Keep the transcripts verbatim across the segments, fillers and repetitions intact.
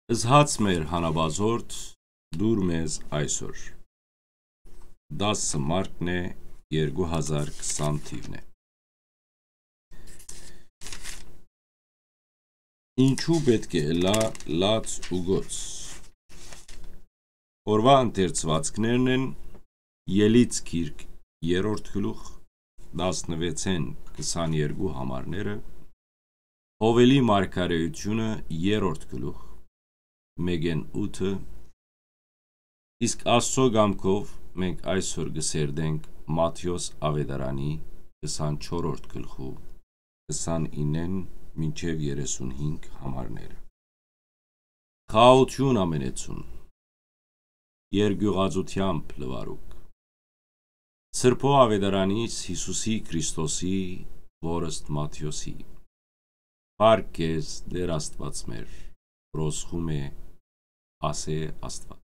Զհաց մեր հանապազորդ, դուր մեզ այսօր։ Տասը մարտն է, երկու հազար քսան թիվն է։ Ինչու պէտք է ըլլայ լաց ու գոց։ Օրուայ ընթերցուածքներն են Ելից գիրք, երրորդ գլուխ, տասնվեցէն քսաներկու համարները, Յովելի մարգարէութիւնը, երրորդ գլուխ, մէկէն ութը, իսկ Աստուծոյ կամքով մենք այսօր կը սերտենք Մատթէոս աւետարանի քսանչորրորդ գլխու քսանիննէն մինչեւ երեսունհինգ համարները։ Խաղաղութիւն ամենեցուն, երկիւղածութեամբ լուարուք։ Սրբոյ աւետարանից Յիսուսի Քրիստոսի, որստ Մատթէոսի։ Փառք քեզ, Տէր Աստուած մեր, ռոզղում է, ասէ Աստուած։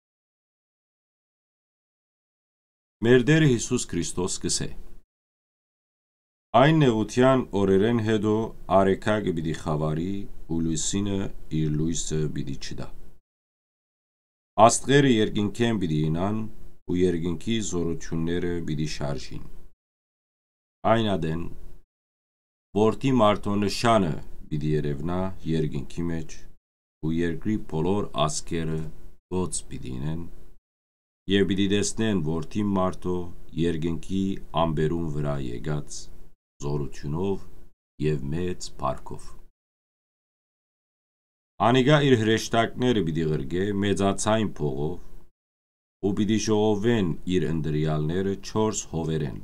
Մեր Տէրը Յիսուս Քրիստոս կ'ըսէ. Այն նեղութեան օրերէն յետոյ արեգակը պիտի խաւարի ու լուսինը իր լոյսը պիտի չտայ։ Աստղերը երկնքէն պիտի իյնան ու երկնքի զօրութիւնները պիտի շարժին։ Այն ատեն Որդի մարդոյ նշանը պիտի երեւնայ երկնքի մէջ ու երկրի բոլոր ազգերը գոց պիտի ինեն եւ պիտի տեսնեն Որդի մարդոյ երկնքի ամպերուն վրայ եկած զօրութիւնով եւ մեծ փառքով։ Անիկա իր հրեշտակները պիտի ղրկէ մեծաձայն փողով ու պիտի ժողովեն իր ընտրեալները չորս հովերէն,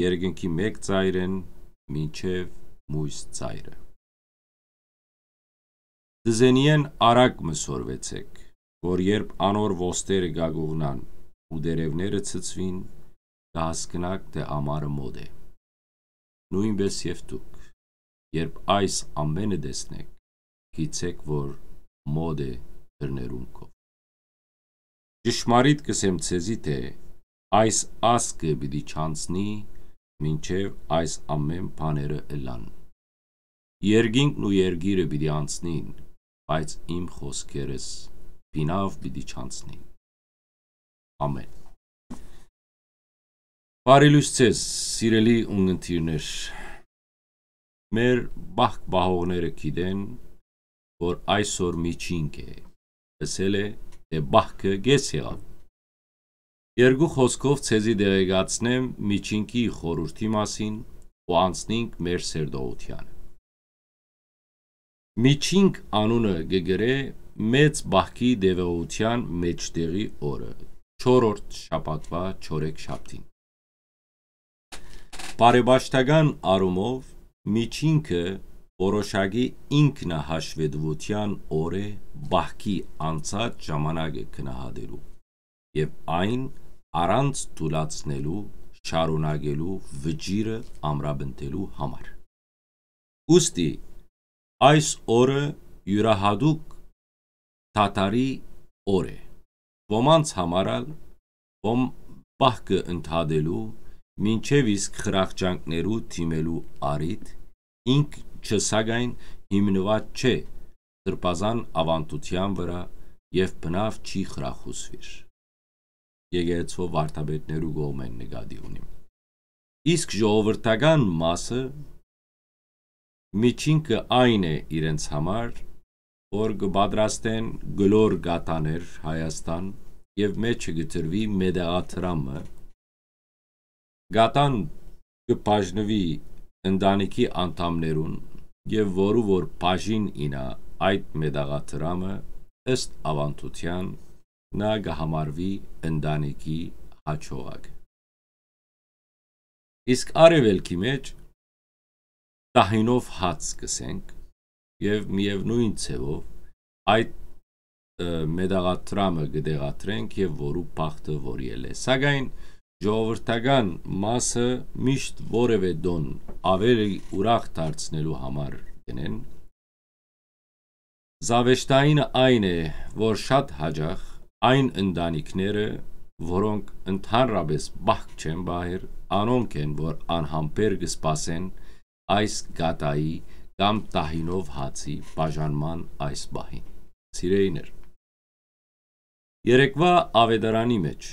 երկնքի մէկ ծայրէն մինչեւ մոյս ծայրը։ Դզենիէն արագ մը սորվեցէք, որ երբ անոր ոստերը կ'ակուղնան ու տերեւները ցցուին, կը հասկնաք թէ ամառը մօտ է։ Նոյնպէս եւ դուք, երբ այս ամէնը տեսնէք, գիտցէք որ մօտ է դռներուն քով։ Ճշմարիտ կ'ըսեմ ձեզի թէ այս ազգը պիտի չանցնի, մինչեւ այս ամէն բաները ըլլան։ Երկինքն ու երկիրը պիտի անցնին, բայց իմ խօսքերս բինաւ պիտի չանցնին։ Ամէն։ Բարի լոյս ձեզ, սիրելի ունգընտիրներ։ Մեր պահք պահողները գիտեն, որ այսօր միջինք է, ըսել է թէ պահքը կէս եղաւ։ Երկու խօսքով ձեզի տեղեկացնեմ միջինքի խորհուրդի մասին ու անցնինք մեր սերտողութեանը։ Միջինք անունը կը կրէ մեծ պահքի տեւողութեան մէջտեղի օրը, չորրորդ շաբաթուայ չորեքշաբթին։ Բարեպաշտական առումով միջինքը որոշակի ինքնահաշվետուութեան օր է պահքի անցած ժամանակը գնահատելու եւ այն առանց թուլացնելու շարունակելու վճիռը ամրապնդելու համար։ Ուստի այս օրը իւրայատուկ դադարի օր է։ Ոմանց համար ալ, ոմ պահքը ընդհատելու, մինչեւ իսկ խրախճանքներու դիմելու առիթ, ինք չը սակայն հիմնուած չէ սրբազան աւանդութեան վրայ եւ բնաւ չի խրախուսուիր։ Եկեղեցւոյ վարդապետներու կողմէն նկատի ունիմ։ Իսկ ժողովրդական մասը, միջինքը այն է իրենց համար, որ կը պատրաստեն գլոր կատաներ Հայաստան եւ մէջը կը դրուի մետաղադրամը, կատան կը բաժնուի ընտանիքի անդամներուն եւ որու որ բաժին ինա այդ մետաղադրամը, ըստ աւանդութեան, նա կը համարուի ընտանիքի հաջողակը։ Իսկ արեւելքի մէջ տահինով հաց կ'ըսենք եւ միեւնոյն ձեւով այդ, ը, մետաղադրամը կը տեղադրենք եւ որու բախտը որ ելլէ։ Սակայն ժողովրդական մասը միշտ որեւէ տոն ավելի ուրախ դարձնելու համար կ'ընեն։ Զաւեշտայինը այն է, որ շատ յաճախ այն ընտանիքները, որոնք ընդհանրապէս պահք չեն պահեր, անոնք են, որ անհամբեր կը սպասեն այս կատայի կամ տահինով հացի բաժանման այս պահին։ Սիրեիներ, երեկվա աւետարանի մէջ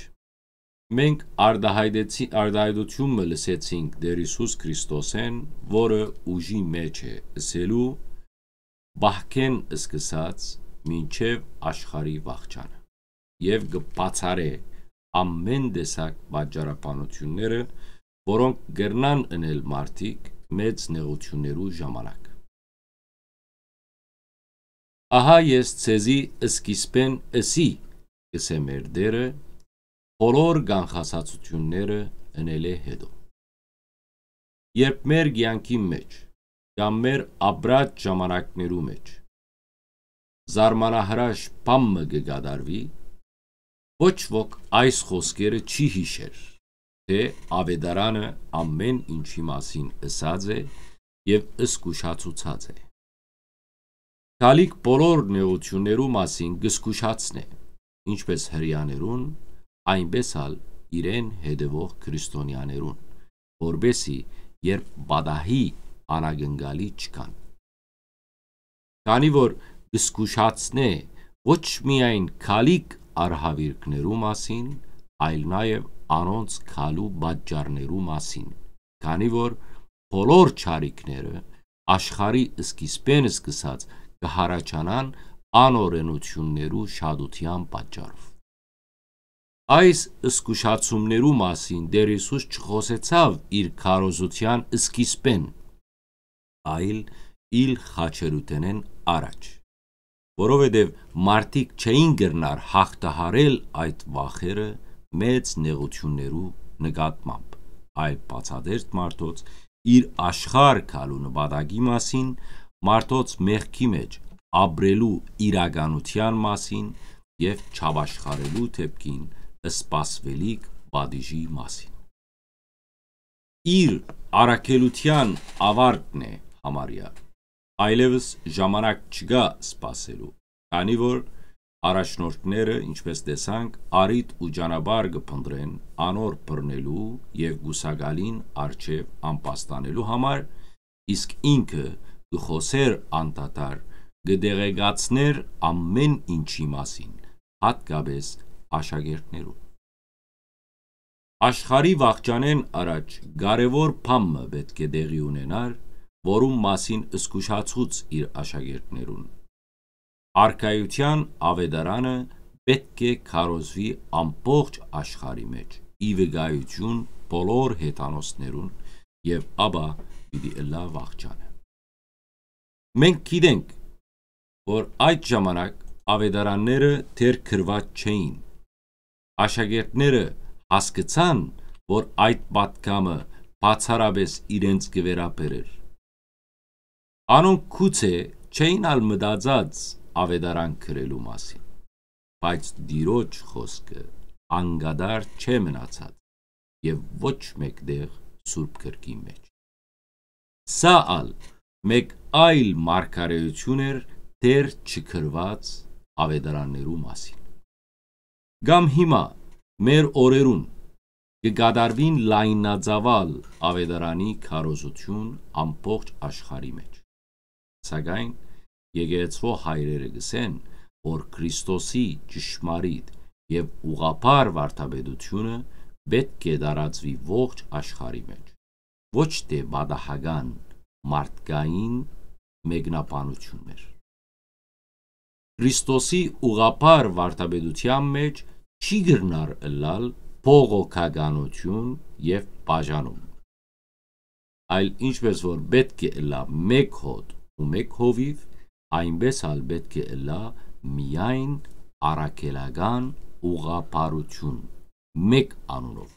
մենք արտահայտեցի-, արտահայտութիւն մը լսեցինք Տէր Յիսուս Քրիստոսէն, որը ուժի մէջ է ըսելու, պահքէն սկսած մինչեւ աշխարհի վախճանը, եւ կը բացառէ ամէն տեսակ պատճառաբանութիւնները, որոնք կրնան ընել մարդիկ մեծ նեղութիւններու ժամանակ։ «Ահա ես ձեզի սկիզբէն ըսի», կ'ըսէ մեր Տէրը, «բոլոր կանխազատութիւնները ընելէ յետոյ»։ Երբ մեր կեանքի մէջ կամ մեր ապրած ժամանակներու մէջ զարմանահրաշ բան մը կը կատարուի, ոչ ոք այս խօսքերը չի յիշեր, թէ աւետարանը ամէն ինչի մասին ըսած է եւ զգուշացուցած է։ Գալիք բոլոր նեղութիւններու մասին կը զգուշացնէ, ինչպէս Հրեաներուն, այնպէս ալ իրեն հետեւող քրիստոնեաներուն, որպէսզի երբ պատահի, անակնկալի չգան։ Քանի որ կը զգուշացնէ ոչ միայն գալիք արհաւիրքներու մասին, այլ նաեւ անոնց գալու պատճառներու մասին, քանի որ բոլոր չարիքները աշխարհի սկիզբէն սկսած կը յառաջանան անօրենութիւններու շատութեան պատճառով։ Այս զգուշացումներու մասին Տէր Յիսուս չխօսեցաւ իր քարոզութեան սկիզբէն, այլ իր խաչերութենէն առաջ, որովհետեւ մարդիկ չէին կրնար յաղթահարել այդ վախերը մեծ նեղութիւններու նկատմամբ, այլ բացատեստ մարդոց իր աշխարհ գալու նպատակի մասին, մարդոց մեղքի մէջ ապրելու իրականութեան մասին եւ չապաշխարելու դէպքին սպասուելիք պատիժի մասին։ Իր առաքելութեան աւարտն է համարեա, այլեւս ժամանակ չկայ սպասելու, քանի որ առաջնորդները, ինչպէս տեսանք, առիթ ու ճանապարհ կը փնտռեն անոր բռնելու եւ կուսակալին առջեւ ամբաստանելու համար, իսկ ինքը կը խօսէր անդադար, կը տեղեկացնէր ամէն ինչի մասին, յատկապէս աշակերտներուն։ Աշխարհի վախճանէն առաջ կարեւոր բան մը պէտք է տեղի ունենար, որուն մասին զգուշացուց իր աշակերտներուն։ Արքայութեան աւետարանը պէտք է քարոզուի ամբողջ աշխարհի մէջ, ի վկայութիւն բոլոր հեթանոսներուն, եւ ապա պիտի ըլլայ վախճանը։ Մենք գիտենք, որ այդ ժամանակ աւետարանները դեռ գրուած չէին։ Աշակերտները հասկցան, որ այդ պատգամը բացառապէս իրենց կը վերաբերէր։ Անոնք գուցե չէին ալ մտածած աւետարան գրելու մասին, բայց Տիրոջ խօսքը անկատար չէ մնացած եւ ոչ մէկ տեղ Սուրբ Գրքին մէջ։ Սա ալ մէկ այլ մարգարէութիւն էր դեռ չգրուած աւետարաններու մասին։ Կամ հիմա, մեր օրերուն, կը կատարուին լայնածաւալ աւետարանի քարոզութիւն ամբողջ աշխարհի մէջ։ Սակայն եկեղեցւոյ հայրերը կ'ըսեն, որ Քրիստոսի ճշմարիտ եւ ուղղափառ վարդապետութիւնը պէտք է տարածուի ողջ աշխարհի մէջ, ոչ թէ պատահական մարդկային մեկնաբանութիւններ։ Քրիստոսի ուղղափառ վարդապետութեան մէջ չի կրնար ըլլալ բողոքականութիւն եւ բաժանում, այլ ինչպէս որ պէտք է ըլլայ մէկ հօտ ու մէկ հովիւ, այնպէս ալ պէտք է ըլլայ միայն առաքելական ուղղափառութիւն մէկ անունով,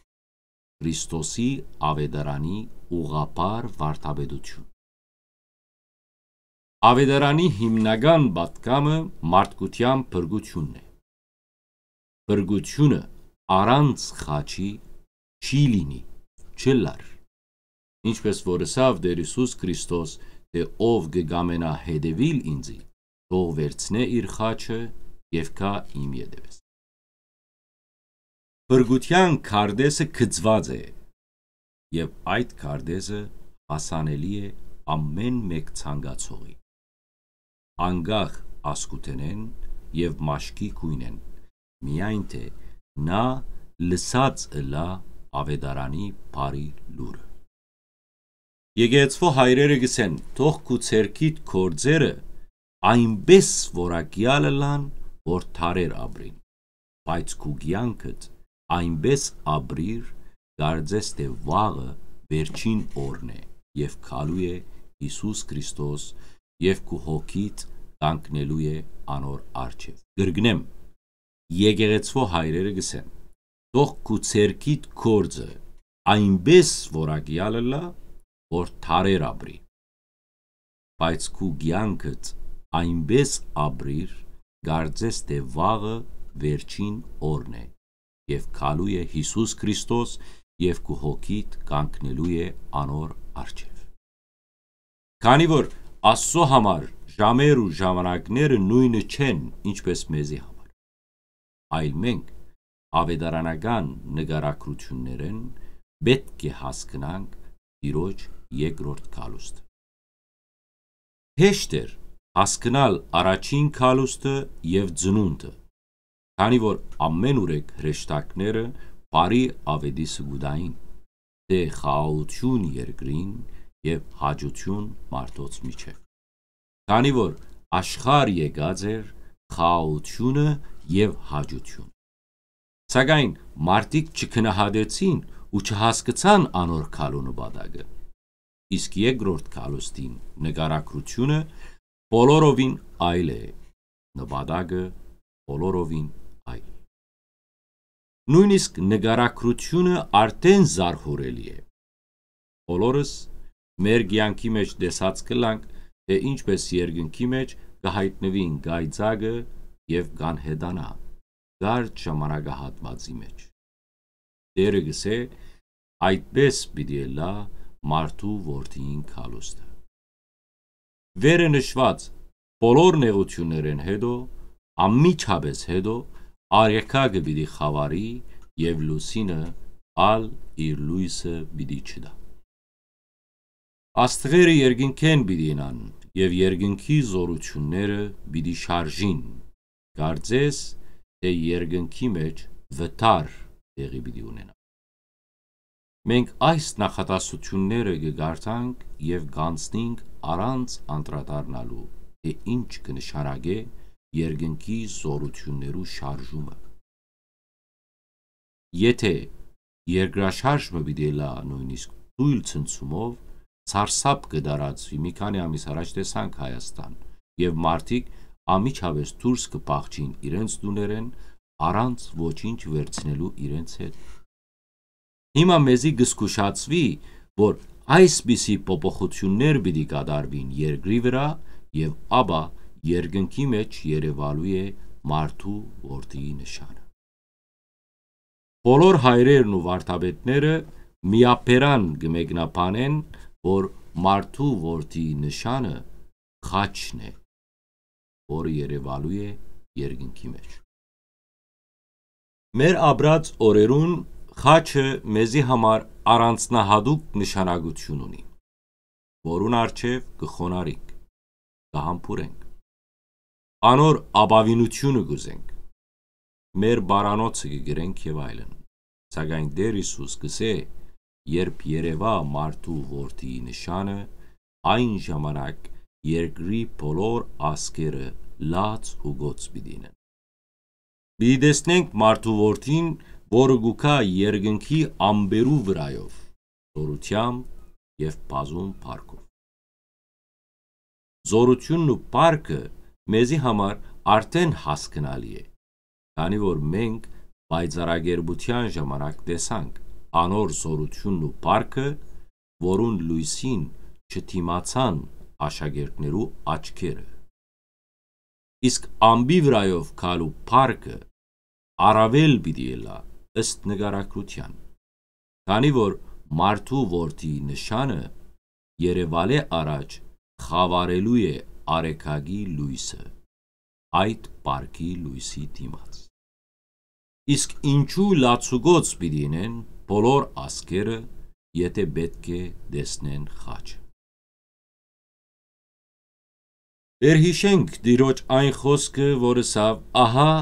Քրիստոսի աւետարանի ուղղափառ վարդապետութիւն։ Աւետարանի հիմնական պատգամը մարդկութեան փրկութիւնն է։ Փրկութիւնը առանց խաչի չի լինի, չ'ըլլար։ Ինչպէս որ ըսաւ Տէր Յիսուս Քրիստոս, թէ «Ով կը կամենայ հետեւիլ ինծի, թող վերցնէ իր խաչը եւ գայ իմ ետեւէս»։ Փրկութեան քարտէսը գծուած է, եւ այդ քարտէսը հասանելի է ամէն մէկ ցանկացողի, անկախ ազգութենէն, եւ մաշկի գոյնէն, միայն թէ նա լսած ըլլայ աւետարանի բարի լուրը։ Եկեղեցւոյ հայրերը կ'ըսեն. «Թող քու ձեռքիդ գործերը այնպէս որակեալ ըլլան, որ դարեր ապրին, բայց քու կեանքդ այնպէս ապրիր, կարծես թէ վաղը վերջին օրն է եւ գալու է Յիսուս Քրիստոս եւ քու հոգիդ կանգնելու է անոր առջեւ»։ Կրկնեմ, եկեղեցւոյ հայրերը կ'ըսեն. «Թող քու ձեռքիդ գործը այնպէս որակեալ ըլլայ, որ դարեր ապրի, բայց քու կեանքդ այնպէս ապրիր, կարծես թէ վաղը վերջին օրն է եւ գալու է Յիսուս Քրիստոս եւ քու հոգիդ կանգնելու է անոր առջեւ»։ Քանի որ Աստծո համար ժամեր ու ժամանակները նոյնը չեն, ինչպէս մեզի համար, այլ մենք աւետարանական նկարագրութիւններէն պէտք է հասկնանք Տիրոջ երկրորդ գալուստը։ Հեշտ էր հասկնալ առաջին գալուստը եւ ծնունդը, քանի որ ամէն ուրեք հրեշտակները բարի աւետիսը կու տային, թէ խաղաղութիւն երկրին եւ հաճութիւն մարդոց միջեւ, քանի որ աշխարհ եկած էր խաղաղութիւնը եւ հաճութիւն։ Սակայն մարդիկ չգնահատեցին ու չհասկցան անոր գալու նպատակը։ Իսկ երկրորդ գալուստին նկարագրութիւնը բոլորովին այլ է, նպատակը բոլորովին այլ։ Նոյնիսկ նկարագրութիւնը արդէն զարհուրելի է։ Բոլորս մեր կեանքի մէջ տեսած կ'ըլլանք, թէ ինչպէս երկնքի մէջ կը յայտնուին կայծակը եւ կ'անհետանայ կարճ ժամանակահատուածի մէջ։ Տէրը կ'ըսէ. «Այդպէս պիտի ըլլայ մարդու որդիին գալուստը»։ Վերը նշուած բոլոր նեղութիւններէն յետոյ, անմիջապէս յետոյ, արեգակը պիտի խաւարի եւ լուսինը ալ իր լոյսը պիտի չտայ։ Աստղերը երկնքէն պիտի ըլլան եւ երկնքի զօրութիւնները պիտի շարժին, կարծես թէ երկնքի մէջ վթար տեղի պիտի ունենայ։ Մենք այս նախադասութիւնները կը կարդանք եւ կ'անցնենք առանց անդրադառնալու, թէ ինչ կը նշանակէ երկնքի զօրութիւններու շարժումը։ Եթէ երկրաշարժ մը պիտի ըլլայ նոյնիսկ թոյլ ցնցումով, սարսափ կը տարածուի, մի քանի ամիս առաջ տեսանք Հայաստան, եւ մարդիկ անմիջապէս դուրս կը փախչին իրենց տուներէն, առանց ոչինչ վերցնելու իրենց հետ։ Հիմա մեզի կը զգուշացուի, որ այսպիսի փոփոխութիւններ պիտի կատարուին երկրի վրայ եւ ապա երկնքի մէջ երեւալու է մարդու որդիի նշանը։ Բոլոր հայրերն ու վարդապետները միաբերան կը մեկնաբանեն, որ մարդու որդիի նշանը խաչն է, որը երեւալու է երկնքի մէջ։ Մեր ապրած օրերուն խաչը մեզի համար առանձնահատուկ նշանակութիւն ունի, որուն առջեւ կը խոնարհենք, կը համբուրենք, անոր ապաւինութիւնը կ'ուզենք, մեր բարանոցը կը գրենք եւ այլն։ Սակայն Տէր Յիսուս կ'ըսէ. «Երբ երեւայ մարդու որդիի նշանը, այն ժամանակ երկրի բոլոր ազգերը լաց ու գոց պիտի ինեն»։ Պիտի տեսնենք մարդու որդին, որը կու գայ երկնքի ամպերու վրայով, զօրութեամբ եւ բազում փառքով։ Զօրութիւնն ու փառքը մեզի համար արդէն հասկնալի է, քանի որ մենք պայծառակերպութեան ժամանակ տեսանք անոր զօրութիւնն ու փառքը, որուն լոյսին չդիմացան աշակերտներու աչքերը։ Իսկ ամպի վրայով գալու փառքը առաւել պիտի ըլլայ ըստ նկարագրութեան, քանի որ մարդու որդիի նշանը երեւալէ առաջ խաւարելու է արեգակի լոյսը, այդ փառքի լոյսի դիմաց։ Իսկ ինչու լացուկոց պիտի ինեն բոլոր ազգերը, եթէ պէտք է տեսնեն խաչը։ Վերհիշենք Տիրոջ այն խօսքը, որ ըսաւ. «Ահա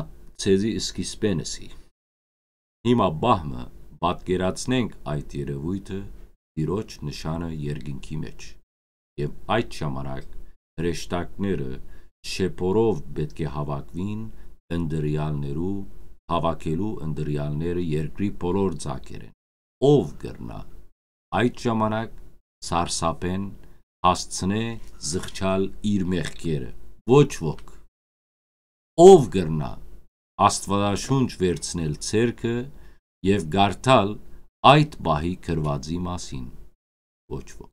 ձեզի սկիզբէն ըսի»։ Հիմա պահ մը պատկերացնենք այդ երեւոյթը Տիրոջ նշանը երկնքի մէջ, եւ այդ ժամանակ հրեշտակները շեփորով պէտք է հաւաքուին ընտրեալներու, հաւաքելու ընտրեալները երկրի բոլոր ծակերէն։ Ո՞վ կրնայ այդ ժամանակ սարսափէն հասցնէ զղջալ իր մեղքերը։ Ոչ ոք։ Ո՞վ կրնայ Աստուածաշունչ վերցնել ձեռքը եւ կարդալ այդ պահի գրուածի մասին։ Ոչ ոք։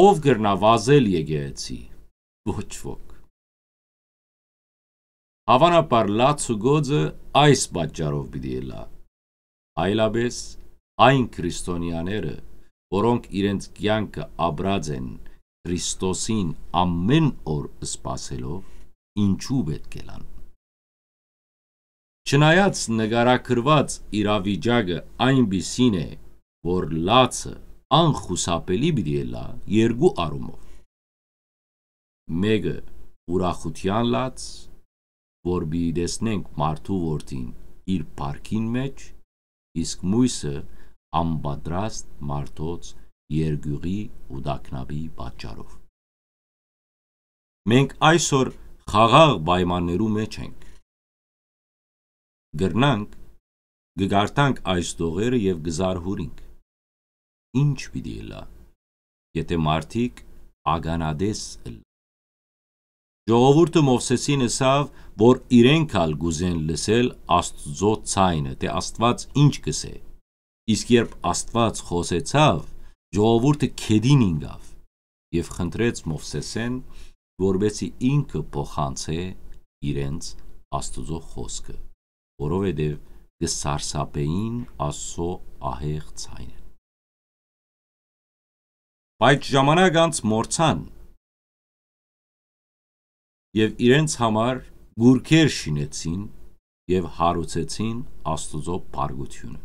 Ո՞վ կրնայ վազել եկեղեցի։ Ոչ ոք։ Հաւանաբար լաց ու գոծը այս պատճառով պիտի ըլլայ։ Այլապէս այն քրիստոնեաները, որոնք իրենց կեանքը ապրած են Քրիստոսին ամէն օր սպասելով, ինչու պէտք է լան։ Չնայած նկարագրուած իրավիճակը այնպիսին է, որ լացը անխուսափելի պիտի ըլլայ երկու առումով։ Մէկը՝ ուրախութեան լաց, որ պիտի տեսնենք մարդու որդին իր փառքին մէջ, իսկ միւսը՝ անպատրաստ մարդոց երկիւղի ու տագնապի պատճառով։ Մենք այսօր խաղաղ պայմաններու մէջ ենք։ Կրնանք, կը կարդանք այս տողերը եւ կը զարհուրինք։ Ի՞նչ պիտի ըլլայ, եթէ մարդիկ ականատես ըլլան։ Ժողովուրդը Մովսէսին ըսաւ, որ իրենք ալ կ'ուզեն լսել Աստուծոյ ձայնը, թէ Աստուած ի՞նչ կ'ըսէ։ Իսկ երբ Աստուած խօսեցաւ, ժողովուրդը գետին ինկաւ եւ խնդրեց Մովսէսէն, որպէսզի ինքը փոխանցէ իրենց Աստուծոյ խօսքը, որովհետեւ կը սարսափէին Աստուծոյ ահեղ ձայնը։ Բայց ժամանակ անց մոռցան եւ իրենց համար գուրգեր շինեցին եւ հարուցեցին Աստուծոյ փառքութիւնը։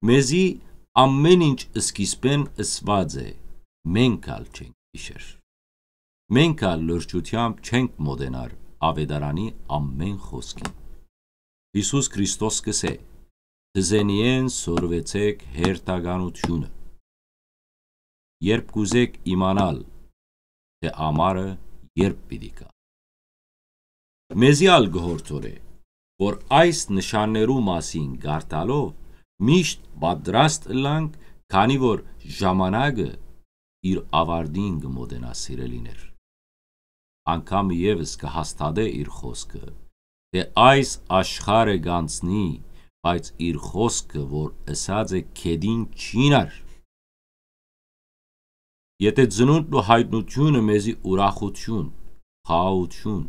Մեզի ամէն ինչ սկիզբէն ըսուած է, մենք ալ չենք յիշեր։ Մենք ալ լրջութեամբ չենք մօտենար աւետարանի ամէն խօսքին։ Յիսուս Քրիստոս կ'ըսէ. «Թզենիէն սորվեցէք հերթականութիւնը»։ Երբ կ'ուզէք իմանալ, թէ ամառը երբ պիտի գայ, մեզի ալ կը յորդորէ, որ այս նշաններու մասին կարդալով միշտ պատրաստ ըլլանք, քանի որ ժամանակը իր աւարտին կը մօտենայ, սիրելիներ։ Անգամ եւս կը հաստատէ իր խօսքը, թէ այս աշխարհը կ'անցնի, բայց իր խօսքը, որ ըսած է, գետին չի նար։ Եթէ ծնունդն ու յայտնութիւնը մեզի ուրախութիւն, խաղաղութիւն,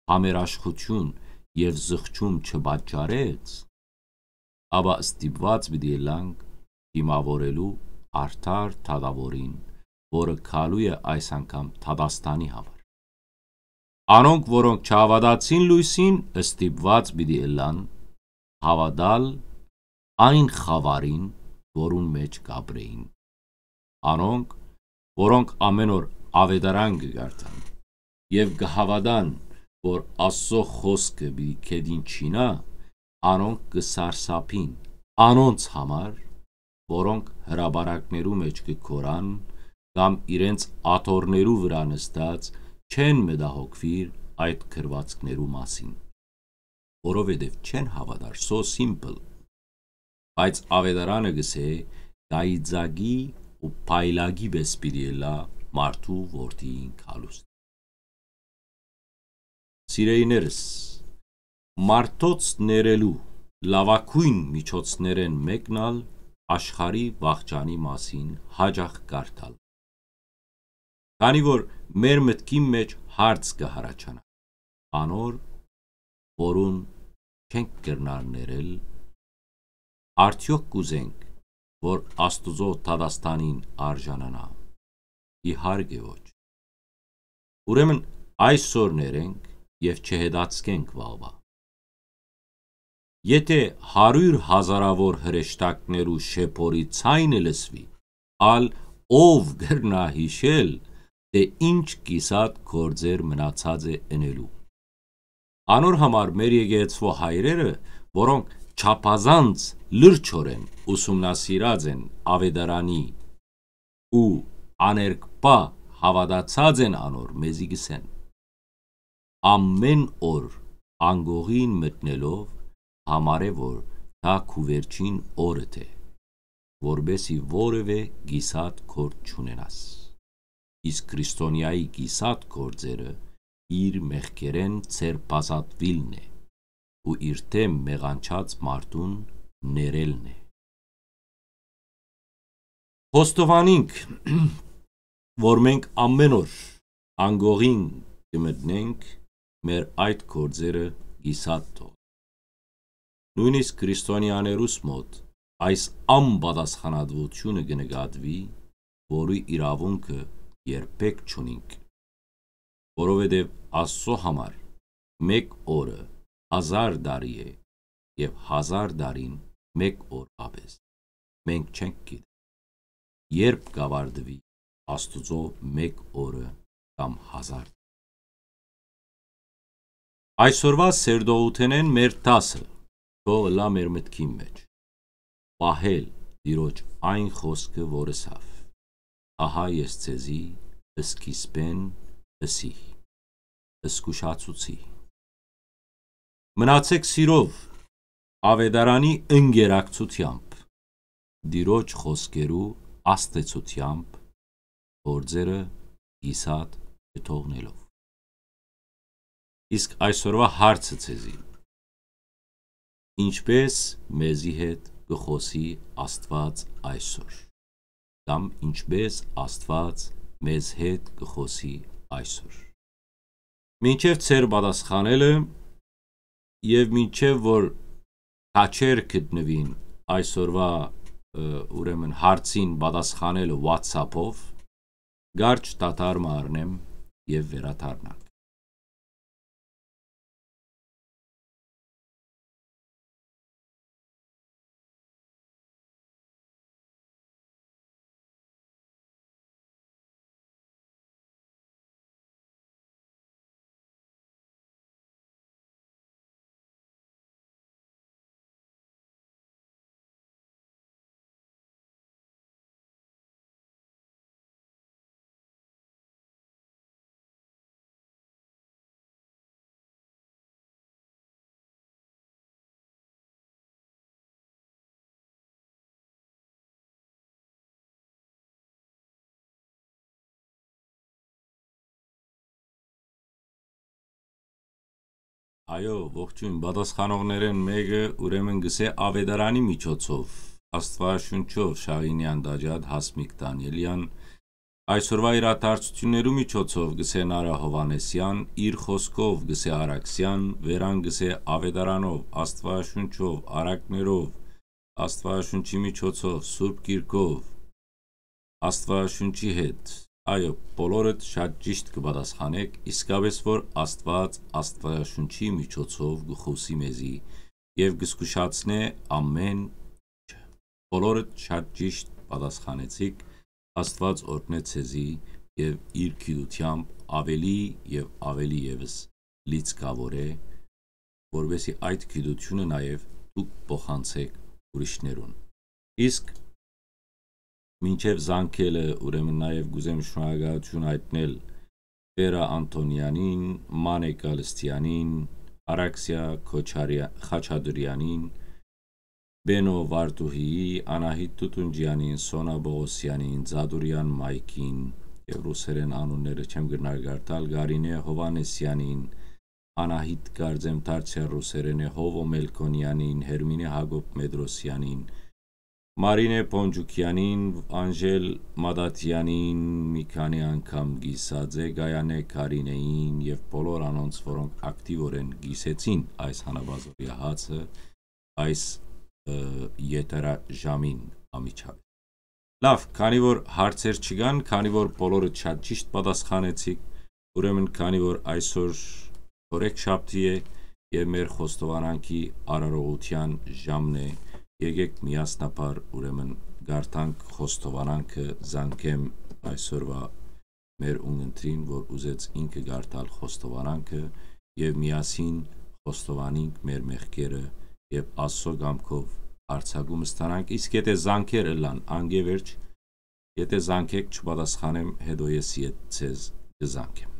համերաշխութիւն եւ զղջում չպատճառեց, ապա ստիպուած պիտի ըլլանք դիմաւորելու արդար դատաւորին, որը գալու է այս անգամ դատաստանի համար։ Անոնք, որոնք չհաւատացին լոյսին, ստիպուած պիտի ըլլան հաւատալ այն խաւարին, որուն մէջ կ'ապրէին։ Անոնք, որոնք ամէն օր աւետարան կը կարդան եւ կը հաւատան, որ Աստուծոյ խօսքը պիտի գետին չինայ, անոնք կը սարսափին անոնց համար, որոնք հրապարակներու մէջ կը գոռան կամ իրենց աթոռներու վրայ նստած չեն մտահոգուիր այդ գրուածքներու մասին, որովհետեւ չեն հաւատար, so simple։ Բայց աւետարանը կ'ըսէ, կայծակի ու փայլակի պէս պիտի ըլլայ մարդու որդիին գալուս։ Սիրելիներս, մարդոց ներելու լաւագոյն միջոցներէն մէկն ալ աշխարհի վախճանի մասին յաճախ կարդալ։ Քանի որ մեր մտքին մէջ հարց կը յառաջանայ, անոր, որուն չենք կրնար ներել, արդեօք կ'ուզենք, որ Աստուծոյ դատաստանին արժանանայ։ Իհարկե ոչ։ Ուրեմն այսօր ներենք եւ չհետաձգենք վաղուայ։ Եթէ հարիւր հազարաւոր հրեշտակներու շեփորի ձայնը լսուի, ալ Ո՞վ կրնայ յիշել թէ ի՞նչ կիսատ գործեր մնացած է ընելու։ Անոր համար մեր եկեղեցւոյ հայրերը, որոնք չափազանց լրջօրէն ուսումնասիրած են աւետարանի ու աներկբայ հաւատացած են անոր, մեզի կ'ըսեն. «Ամէն օր անկողին մտնելով, համարէ որ դա քու վերջին օրդ է, որպէս զի որեւէ կիսատ գործ չունենաս»։ Իսկ քրիստոնեայի կիսատ գործերը իր մեղքերէն ձերբազատուիլն է ու իր դէմ մեղանչած մարդուն ներելն է։ Խոստովանինք, որ մենք ամէն օր անկողին կը մտնենք, մեր այդ գործերը կիսատ թող։ Նոյնիսկ քրիստոնեաներուս մօտ այս անպատասխանատուութիւնը կը նկատուի, որու իրաւունքը երբեք չունինք, որովհետեւ Աստծո համար մէկ օրը հազար տարի է եւ հազար տարին մէկ օրուա պէս։ Մենք չենք գիտեր, երբ կ'աւարտուի Աստուծոյ մէկ օրը կամ հազար։ Այսօրուա սերտողութենէն մեր դասը թող ըլլայ մեր մտքին մէջ. պահել Տիրոջ այն խօսքը, որ ըսաւ. «Ահա ես ձեզի սկիզբէն ըսի, զգուշացուցի»։ Մնացեք սիրով, աւետարանի ընկերակցութեամբ, Տիրոջ խօսքերու ազդեցութեամբ, գործերը կիսատ չթողնելով։ Իսկ այսօրուա հարցը ձեզի. ինչպէս մեզի հետ կը խօսի Աստուած այսօր, կամ ինչպէս Աստուած մեզ հետ կը խօսի այսօր։ Մինչեւ ձեր պատասխանելը եւ մինչեւ որ քաչեր գտնուին այսօրուա, ը, ուրեմն հարցին պատասխանելը WhatsApp-ով, կարճ դադար մը առնեմ եւ վերադառնանք։ Այո, ողջոյն, պատասխանողներէն մէկը ուրեմն կ'ըսէ աւետարանի միջոցով, Աստուաշունչով Շահինեան Դաջատ, Հասմիկ Դանիելեան, այսօրուա իրադարձութիւններու միջոցով կ'ըսէ Նարա Հովհաննիսեան, իր խօսքով կ'ըսէ Արաքսեան, վերան կ'ըսէ աւետարանով, Աստուաշունչով, առակներով, Աստուաշունչի միջոցով, Սուրբ Գիրքով, Աստուաշունչի հետ։ Այո, բոլորդ շատ ճիշտ կը պատասխանէք, իսկապէս որ Աստուած Աստուաշունչի միջոցով կը խօսի մեզի եւ կը զգուշացնէ ամէն ինչը։ Բոլորդ շատ ճիշտ պատասխանեցիք, Աստուած օրհնէ ձեզի եւ իր գիտութեամբ աւելի եւ աւելի եւս լիցքաւորէ, որպեսզի այդ գիտութիւնը նաեւ դուք փոխանցէք ուրիշներուն։ Իսկ մինչեւ զանգելը, ուրեմն, նաեւ կ'ուզեմ շնորհակալութիւն յայտնել Վերա Անթոնեանին, Մանե Կալստեանին, Արաքսիա Քոչարեա-, Խաչատուրեանին, Բենո Վարդուհիի, Անահիտ Տուտունջեանին, Սոնա Պողոսեանին, Ձադուրեան Մայքին, եւ ռուսերեն անունները չեմ կրնար կարդալ, Գարինե Հովհաննիսեանին, Անահիտ կարծեմ դարձեալ ռուսերեն է, Հովո Մելքոնեանին, Հերմինե Հակոբ Մետրոսեանին, Մարինե Պոնջուկեանին, Անժել Մադատեանին, մի քանի անգամ կիսած է, Գայանե Կարինեին եւ բոլոր անոնց, որոնք ակտիվորեն կիսեցին այս հանապազօրեայ հացը այս, ը, եթերաժամին անմիջապէս։ Լավ, քանի որ հարցեր չկան, քանի որ բոլորը շատ ճիշտ պատասխանեցիք, ուրեմն քանի որ այսօր օրեքշաբթի է եւ մեր խոստովանանքի արարողութեան ժամն է, եկեք միասնաբար ուրեմն կարդանք խոստովանանքը, զանգեմ այսօրվա մեր ունգընտրին, որ ուզեց ինքը կարդալ խոստովանանքը, եւ միասին խոստովանենք մեր մեղքերը եւ Աստծո կամքով արձակում ստանանք, իսկ եթե զանգեր ըլլան անկէ վերջ, եթե զանգէք չպատասխանեմ, հետո ես ետ ձեզ կզանգեմ։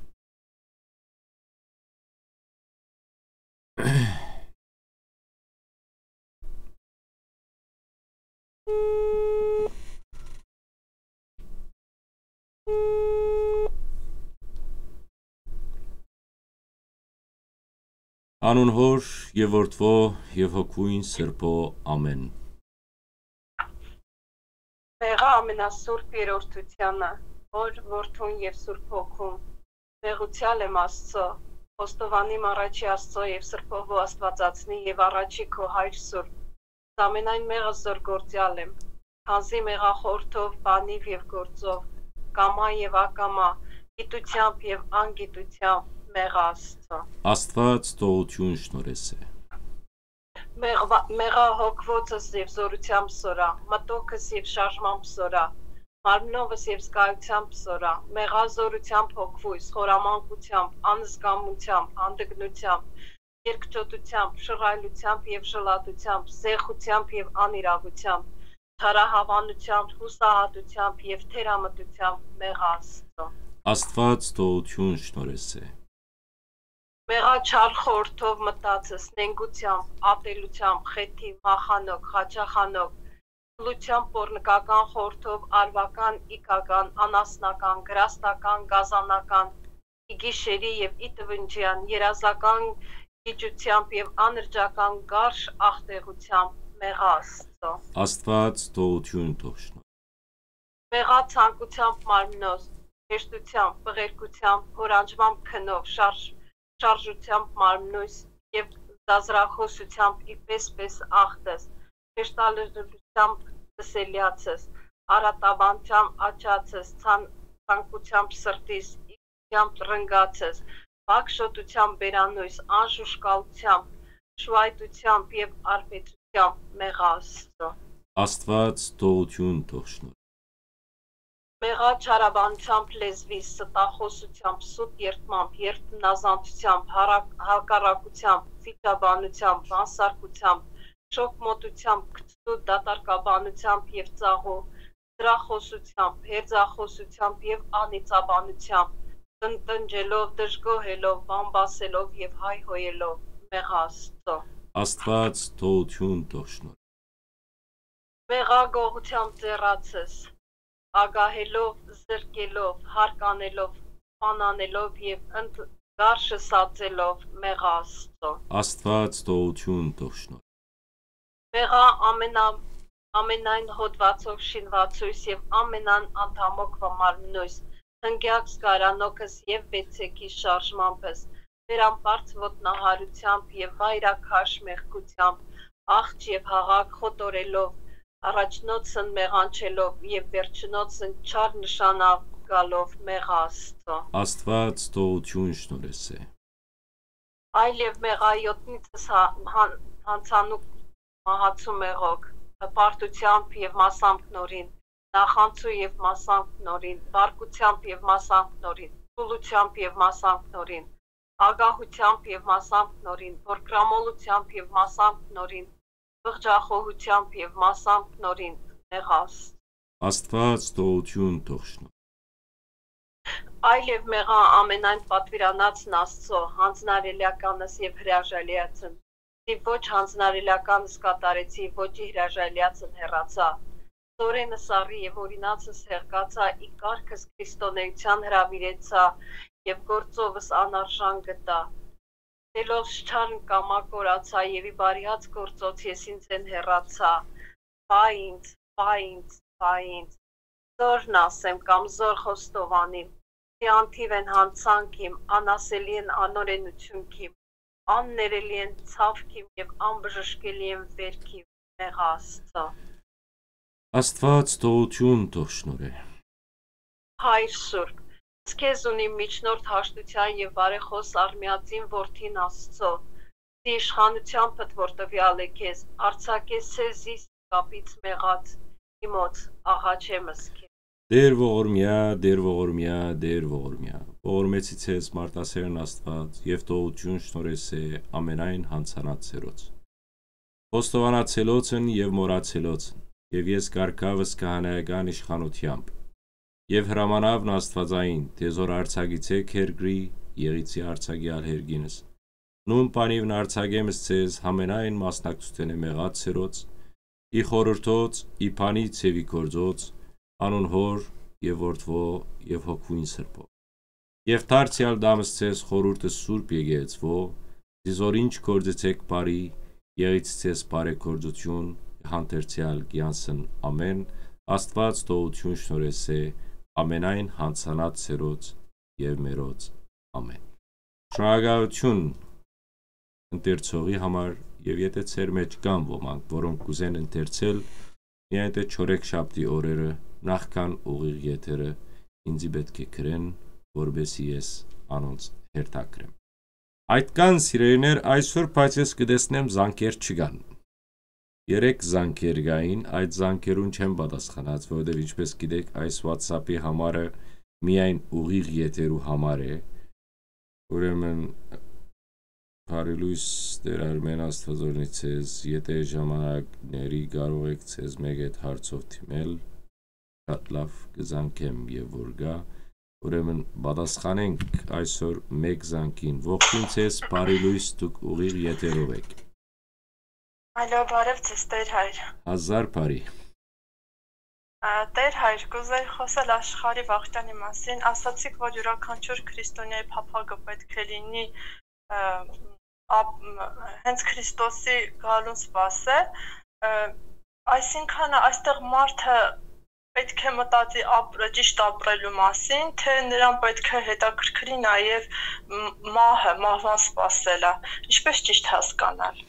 Անուն Հոր եւ Որդւոյ եւ Հոգւոյն Սրբոյ, ամէն։ Մեղա ամենասուրբ երրորդությանը, որ Որդուն եւ Սուրբ Հոգուն, մեղուցեալ եմ Աստծո, խոստովանիմ առաջի Աստծո եւ Սրբովու Աստուածածնի եւ առաջի քո հայր Սուրբ, ամենայն մեղս զոր գործեալ եմ, քանզի մեղախորհրդով, բանիւ եւ գործով, կամայ եւ ակամայ, գիտութեամբ եւ անգիտութեամբ մեղա Աստծո։ Աստուած թողութիւն շնորհեսէ։ Մեղվա-, մեղա հոգվոցս եւ զորութեամբ սորա, մտոքս եւ շարժմամբ սորա, մարմնովս եւ զգայութեամբ սորա, մեղա զորութեամբ հոգվոյս, խորամանկութեամբ, անզգամութեամբ, հանդգնութեամբ, երկչոտութեամբ, շռայլութեամբ եւ ժլատութեամբ, զեղութեամբ եւ անիրաւութեամբ, թարահաւանութեամբ, յուսահատութեամբ եւ թերամտութեամբ մեղա Աստծո։ Աստուած թողութիւն շնորհեսէ։ Մեղա չար խորհրդով մտածս, նենգութեամբ, ատելութեամբ, խեթի, մախանոք, խաչախանոք, փլութեամբ, պոռնկական խորհրդով, արուական, իգական, անասնական, գրաստական, գազանական, ի գիշերի եւ ի տվնջեան, երազական գիջութեամբ եւ անրճական գարշ ախտեղութեամբ մեղա Աստծո։ Աստուած թողութիւն թող շնորհ։ Մեղա ցանկութեամբ մարմնոս, հեշտութեամբ, բղերկութեամբ, հորանջմամբ քնով, շարժ-, շարժութեամբ մարմնոյս եւ զազրախօսութեամբ իպէս-պէս ախտս, հեշտալռութեամբ դսելեացս, արատաբանութեամբ աջացս, ցան-, ցանկութեամբ սրտիս, իգությամբ ռնգացս, բակշոտութեամբ բերանոյս, անժուշկալութեամբ, շուայտութեամբ եւ արբեցութեամբ մեղա Աստծո։ Աստուած թողութիւն թող շնորհ։ Մեղա չարաբանութեամբ լեզվիս, ստախօսութեամբ, սուտ երդմամբ, երդմնազանդութեամբ, հարակ-, հակառակութեամբ, վիճաբանութեամբ, բանսարկութեամբ, շոգմոտութեամբ, քցու դատարկաբանութեամբ եւ ծաղու, ծրախօսութեամբ, հերձախօսութեամբ եւ անիծաբանութեամբ, տնտնջելով, դժգոհելով, բամբասելով եւ հայհոյելով մեղա Աստծո։ Աստուած թողութիւն թող շնորհ։ Մեղա գողութեամբ ձեռացս, ագահելով, զրկելով, հարկանելով, սպանանելով եւ ընդ-, գարշը սածելով մեղա Աստծո։ Աստուած թողութիւն թող շնորհ։ Մեղա ամենա-, ամենայն հոդվածով շինուածոյս եւ ամենան անդամօքվա մարմնոյս, հնգեակ զգարանոքս եւ վեցեքի շարժմամբս, վերամբարձ ոտնահարութեամբ եւ վայրաքաշ մեղքութեամբ, աղջ եւ հաղակ խոտորելով, առաջնոցն մեղանչելով եւ վերջնոցն չար նշանակ գալով մեղա Աստծո։ Աստուած թողութիւն շնորհեսէ։ Այլ եւ մեղա յոտնիցս հա-, հան-, յանցանուք մահացու մեղոք, հպարտութեամբ եւ մասամբ նորին, նախանցու եւ մասամբ նորին, բարկութեամբ եւ մասամբ նորին, թուլութեամբ եւ մասամբ նորին, ագահութեամբ եւ մասամբ նորին, փորկրամոլութեամբ եւ մասամբ նորին, բղջախոհութեամբ եւ մասամբ նորին մեղա Աստծո։ Աստուած թողութիւն թող շնորհ։ Այլ եւ մեղա ամենայն պատուիրանացն Աստծո, յանձնարարելիականս եւ հրաժարելիացն, ի ոչ յանձնարարելիականս կատարեցի, ոչ ի հրաժարելիացն հեռացայ, ծորենս առի եւ օրինացս հեղկացայ, ի կարգս քրիստոնէութեան հրաւիրեցայ եւ գործովս անարժան գտայ։ Դելովս չար նկամա կորացայ եւ ի բարիաց գործոց ես ինծէն հեռացայ։ Վա ինձ, վա ինձ, վա ինձ։ Զորն ասեմ կամ զոր խոստովանիմ, թիանթիւ են յանցանք իմ, անասելի են անօրէնութիւնք իմ, աններելի են ցաւք իմ եւ անբժշկելի են վէրք իմ, մեղա Աստծո։ Աստուած թողութիւն թող շնորհէ։ Հայր Սուրբ, քեզ ունի միջնորդ հաշտութեան եւ բարեխօս արմեածին որդին Աստծո, զի իշխանութեամբդ որ տուեալ է քեզ, արձակես զիս կապից մեղաց, իմոց աղաչեմս քեզ։ Տեր ողորմիա, Տեր ողորմիա, Տեր ողորմիա, ողորմեցի ձեզ մարդասերն Աստուած եւ թողութիւն շնորհեսէ ամենայն յանցանած սերոց։ Խոստովանացելոցն եւ մոռացելոցն, եւ ես կարգաւս քահանայական իշխանութեամբ, եւ հրամանաւն Աստուածային, թէ զոր արձակիցեք երկրի, եղիցի արձակի ալ երկինս, նուն բանիվն արձակեմ ըսցեզ համենայն մասնակցութենէ մեղած սերոց, ի խորհրդոց, ի բանի ձեւի գործոց, անուն Հոր եւ Որդւոյ եւ Հոգւոյն Սրբոյ։ Եւ դարձեալ դամ ըսցեզ խորհուրդը Սուրբ Եկեղեցւոյ, զի զոր ինչ գործեցեք բարի, եղիցցեզ բարեգործութիւն, հանդերձեալ կյանսն ամեն, Աստուած թողութիւն շնորհեսէ ամենայն յանցանած սերոց եւ մերոց։ Ամեն։ Շնորհակալութիւն ընթերցողի համար, եւ եթէ ձեր մէջ կան ոմանք, որոնք կուզեն ընթերցել, միայն թէ չորեքշաբթի օրերը նախքան ուղիղ եթերը ինձի պէտք է գրեն, որպեսզի ես անոնց հերթագրեմ։ Այդ կան, սիրելիներ, այսօր, բայց ես կը տեսնեմ, զանգեր չկան։ Երեք զանգեր կային, այդ զանգերուն չեմ պատասխանած, որովհետեւ, ինչպես գիտեք, այս WhatsApp-ի համարը միայն ուղիղ եթերու համար է։ Ուրեմն, բարի լոյս, Տեր Արմեն, Աստուած օրհնի ձեզ, եթէ ժամանակների կարող եք ձեզ մէկ այդ հարցով դիմել, շատ լաւ կը զանգեմ եւ որ գայ, ուրեմն պատասխանենք այսօր մէկ զանգին։ Ողջույն ձեզ, բարի լոյս, դուք ուղիղ եթերով էք։ Ալո, բարև ձեզ, Տեր Հայր։ Հազար բարի։ Ա, Տեր Հայր, կուզեի խօսել աշխարհի վաղճանի մասին։ Ասացիք, որ իւրաքանչիւր քրիստոնեայ փափակը պէտք է լինի, ը, ապ-, մ-, հենց Քրիստոսի գալուն սպասել, ը, այսինքն այստեղ մարդը պէտք է մտածի ապր-, ճիշտ ապրելու մասին, թէ նրան պէտք է հետաքրքրի նաեւ մ-, մահը, մահվան սպասելը։ Ինչպես ճիշտ հասկանալ։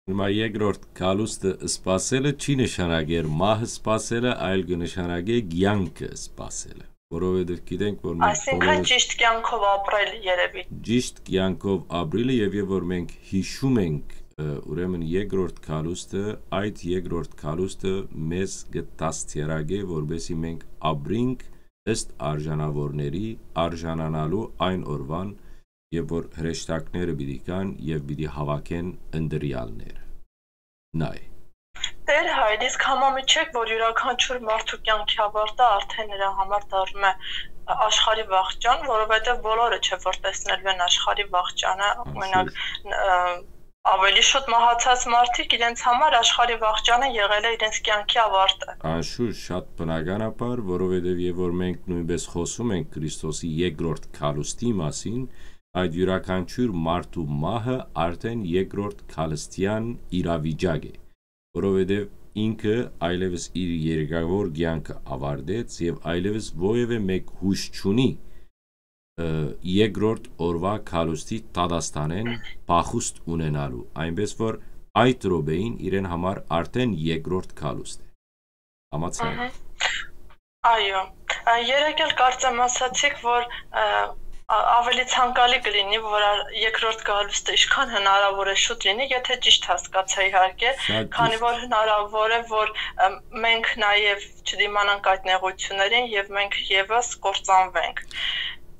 Հիմա երկրորդ գալուստը սպասելը չի նշանակեր մահը սպասելը, այլ կը նշանակէ կեանքը սպասելը, որովհետեւ գիտենք, որ մենք Այսինքն բոլորս ճիշտ կեանքով ապրել երևի։ Ճիշտ կեանքով ապրելը եւ, եւ որ մենք հիշում ենք, ը, ուրեմն երկրորդ գալուստը, այդ երկրորդ գալուստը մեզ կը դաստիարակէ, որպեսզի մենք ապրինք ըստ արժանաւորների, արժանանալու այն օրուան, եւ որ հրեշտակները պիտի գան եւ պիտի հաւաքեն ընտրեալները։ Նայ։ Տեր Հայր, իսկ համամիջեք, որ իւրաքանչիւր մարդու կեանքի աւարտը արդեն նրա համար դառնում է աշխարհի վաղճան, որովհետեւ բոլորը չէ որ տեսնելու են աշխարհի վաղճանը, Անշուշտ։ օրինակ, ն-, ը, ավելի շուտ մահացած մարդիկ իրենց համար աշխարհի վաղճանը եղել է իրենց կեանքի աւարտը։ Անշուշտ, շատ բնականաբար, որովհետեւ եւ որ մենք նոյնպես խօսում ենք Քրիստոսի երկրորդ գալուստի մասին, այդ իւրաքանչիւր մարդու մահը արդեն երկրորդ գալստեան իրավիճակ է, որովհետեւ ինքը այլեւս իր երկրավոր կեանքը աւարտեց եւ այլեւս որեւէ մէկ յոյս չունի, ը, երկրորդ օրուայ գալուստի դատաստանէն փախուստ ունենալու, այնպես որ այդ րոպեին իրեն համար արդեն երկրորդ գալուստ է։ Համաձայն։ Ահա։ Այո, ա, երեկ էլ կարծեմ ասացիք, որ, ա, ա, ավելի ցանկալի կլինի, որ ա, երկրորդ գալուստը ինչքան հնարավոր է շուտ լինի, եթե ճիշտ հասկացա իհարկե, Շատ քանի ճիշտ։ որ հնարավոր է, որ, ը, մենք նաև չդիմանանք այդ նեղություններին և մենք ևս կործանվենք։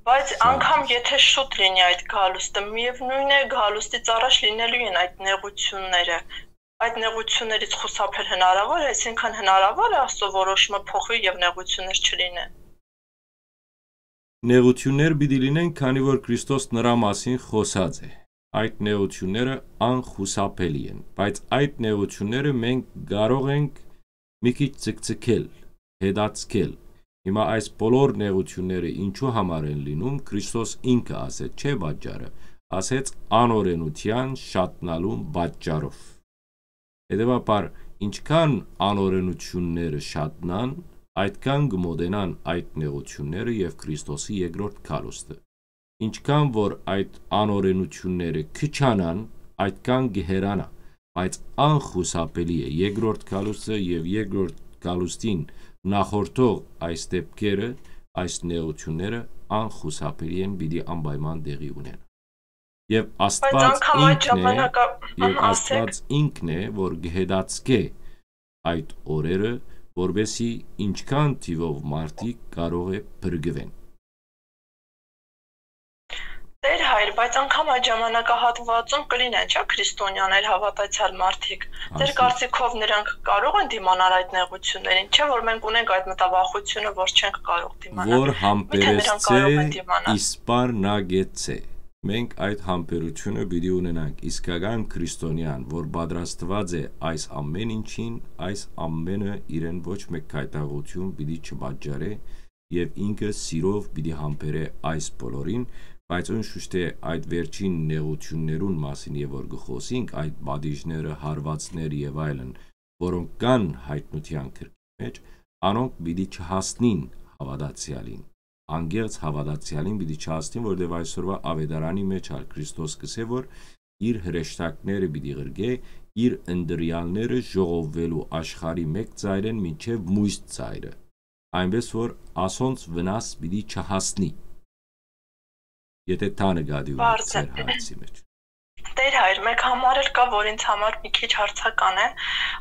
Բայց Շատ անգամ ճիշտ։ եթե շուտ լինի այդ գալուստը, միևնույն է, գալուստից առաջ լինելու են այդ նեղությունները։ Այդ նեղություններից խուսափել հնարավոր է, այսինքն հնարավոր է Աստծո որոշումը փոխվի և նեղություններ չլինեն։ Նեղություններ պիտի լինեն, քանի որ Քրիստոս նրա մասին խօսած է։ Այդ նեղությունները անխուսափելի են, բայց այդ նեղությունները մենք կարող ենք մի քիչ ցկցկել, հետաձգել։ Հիմա այս բոլոր նեղությունները ինչու համար են լինում, Քրիստոս ինքը ասեց, չէ՞ պատճառը, ասեց անօրենության շատնալուն պատճառով։ Հետևաբար, ինչքան անօրենությունները շատնան, այդքան կմոտենան այդ նեղությունները և Քրիստոսի երկրորդ գալուստը։ Ինչքան որ այդ անօրենությունները քչանան, այդքան կհեռանա, բայց անխուսափելի է երկրորդ գալուստը և երկրորդ գալուստին նախորդող այս դեպքերը, այս նեղությունները անխուսափելի են, պիտի անպայման տեղի ունենան։ Եվ Բայց Աստված անգամ այդ ինքն է, ժամանակա-, և ըհը, ասեք։ Աստված ինքն է, որ կհետաձգէ այդ օրերը, որպեսզի ինչքան թիվով մարդիկ կարող է փրկուեն։ Տեր հայր, բայց անգամ այդ ժամանակահատվածում կլինի, չէ՞, քրիստոնյաներ, հավատացյալ մարդիկ։ Ձեր Ասի- կարծիքով նրանք կարող են դիմանալ այդ նեղություններին, չէ՞, որ մենք ունենք այդ մտավախությունը, որ չենք կարող դիմանալ։ Որ Միթե նրանք համբերեցցէ կարող են դիմանալ։ Իսպար նա գեցցէ։ Մենք այդ համբերությունը պիտի ունենանք, իսկական քրիստոնեան, որ պատրաստուած է այս ամեն ինչին, այս ամենը իրեն ոչ մեկ գայթակղություն պիտի չպատճառէ, եւ ինքը սիրով պիտի համբերէ այս բոլորին, բայց անշուշտ է այդ վերջին նեղություններուն մասին եւ որ կը խօսինք, այդ պատիժները, հարվածները եւ այլն, որոնք կան հայտնութեան գրքի մեջ, անոնք պիտի չհասնին հաւատացեալին։ Անկեղծ հաւատացեալին պիտի չհասնին, որտեղ այսօրվա աւետարանի մեջ ալ Քրիստոս կսե, որ իր հրեշտակները պիտի ղրկէ, իր ընտրեալները ժողովուելու աշխարհի մէկ ծայրէն մինչեւ մոյս ծայրը, այնպէս որ ասոնց վնաս պիտի չհասնի, եթե դա նկատի ունի Պարզ է։ Ձեր հարցի մեջ։ Տեր հայր, մեկ համար էլ կա, որ ինձ համար մի քիչ հարցական է։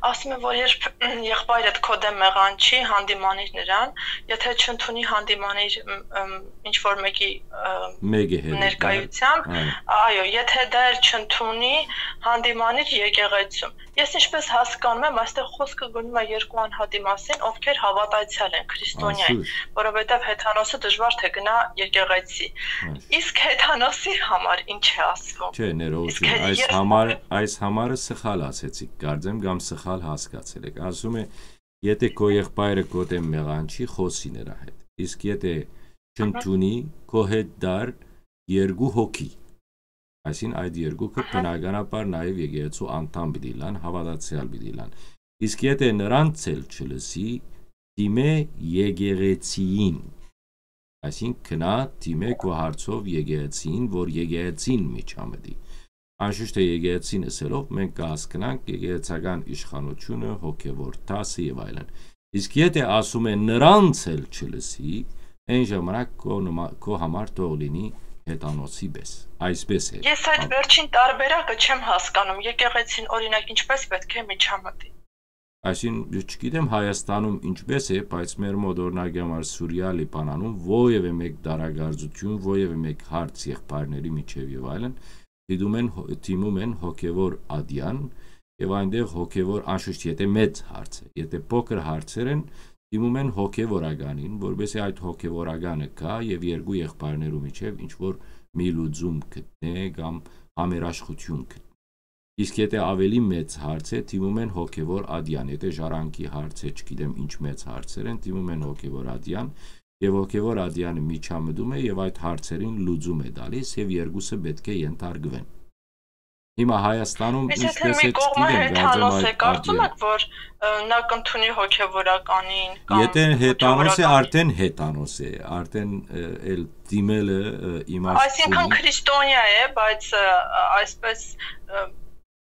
Ասում է, որ երբ եղբայրդ քո դեմ մեղանչի, հանդիմանիր նրան, եթե չընդունի, հանդիմանիր, մ, մ, ինչ-որ մեկի, ը, Մեկի հետ ներկայությամբ, այո։ Այո, եթե դա էլ չընդունի, հանդիմանիր եկեղեցում։ Ես ինչպես հասկանում եմ, այստեղ խոսքը գնում է երկու անհատի մասին, ովքեր հավատացյալ են քրիստոնեայ, Անշուշտ։ Որովհետև հեթանոսը դժվար թե գնա եկեղեցի։ Այո։ Իսկ հեթանոսի համար ինչ է ասվում։ Չէ, ներողություն, Իսկ հե-, այս ես համար, այս համարը սխալ ասեցիք, կարծեմ, կամ սխալ հասկացել եք։ Ասում է, եթե քո եղբայրը քո դեմ մեղանչի, խօսի նրա հետ։ Իսկ եթե չընդունի, քո հետ դար երկու հոգի։ Այսինքն այդ երկուքը բնականաբար նաև եկեղեցու անդամ պիտի լան, հավատացյալ պիտի լան։ Իսկ եթե նրանց էլ չլսի, դիմէ եկեղեցիին։ Այսինքն գնա դիմէ քո հարցով եկեղեցիին, որ եկեղեցին միջամտի։ Անշուշտ է եկեղեցին ըսելով մենք կհասկնանք եկեղեցական իշխանությունը, հոգևոր դասը եւ այլն։ Իսկ եթե ասում է նրանց էլ չլսի, այն ժամանակ քո նմա-, քո համար թող լինի հեթանոսի պես։ Այսպես է։ Ես այդ Ան- վերջին տարբերակը չեմ հասկանում, եկեղեցին, օրինակ, ինչպես պետք է միջամտի։ Այսինքն, չգիտեմ Հայաստանում ինչպես է, բայց մեր մոտ, օրինակի համար, Սուրիա, Լիբանանում ովևէ մեկ դարակարծություն, ովևէ մեկ հարց եղբայրների միջև եւ այլն, դիտում են հո-, դիմում են հոգևոր ադյան, եւ այնտեղ հոգևոր, անշուշտ, եթե մեծ հարց է, եթե փոքր հարցեր են, դիմում են հոգևորականին, որպեսզի այդ հոգևորականը գա եւ երկու եղբայրներու միջև ինչ-որ մի լուծում գտնէ կամ համերաշխություն գտնէ։ Իսկ եթե ավելի մեծ հարց է, դիմում են հոգևոր ադյան, եթե ժառանգի հարց է, չգիտեմ ինչ մեծ հարցեր են, դիմում են հոգևոր ադյան, եւ հոգևոր ադյանը միջամտում է եւ այդ հարցերին լուծում է տալիս, եւ երկուսը պետք է ենթարկվեն։ Հիմա Հայաստանում Իսկ եթե ինչպես մի է, կողմը չգիտեմ, կարծեմ հեթանոս է, այդ կարծում ադյանը եք, որ, ը, նա կընդունի հոգևորականին կամ Եթե հեթանոս է, հոգևորական արդեն հեթանոս է, արդեն, ը, էլ դիմելը, ը, իմաստ Այսինքն չունի։ Քրիստոնյա է, բայց, ը, այսպես, ը,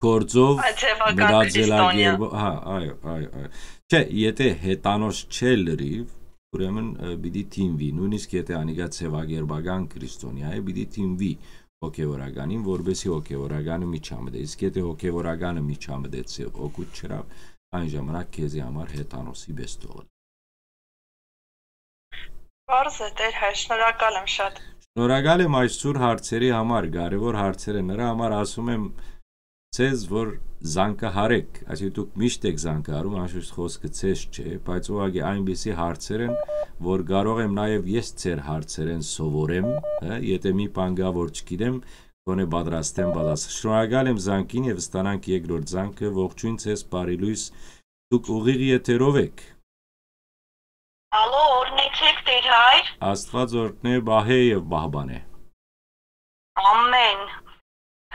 Գործով, Ձևական մտածելակերպով, քրիստոնյա։ Հա, այո, այո, այո։ Չէ, եթե հեթանոս չէ լրիվ, ուրեմն, ը, պիտի դիմվի, նույնիսկ եթե անիկա ձևակերպական քրիստոնյա է, պիտի դիմվի հոգևորականին, որպեսզի հոգևորականը միջամտե։ Իսկ եթե հոգևորականը միջամտեց եւ օգուտ չրավ, այն ժամանակ քեզի համար հեթանոսի պես թողել։ Պարզ է, Տեր հայր, շնորհակալ եմ շատ։ Շնորհակալ եմ այսօր հարցերի համար, կարևոր հարցերը։ Նրա համար ասում եմ ձեզ, որ զանգահարեք, այսինքն դուք միշտ եք զանգահարում, անշուշտ խոսքը ձեզ չէ, բայց ուղղակի այնպիսի հարցեր են, որ կարող եմ նաև ես ձեր հարցերեն սովորեմ, հա, եթե մի բան կա, որ չգիտեմ, գոնե պատրաստ եմ պատասխան։ Շնորհակալ եմ զանգին եւ ստանանք երկրորդ զանգը։ Ողջույն ձեզ, բարի լույս, դուք ուղիղ եթերով եք։ Ալո, օրհնեցեք, Տեր հայր։ Աստված օրհնե, պահե եւ պահպանե։ Ամեն։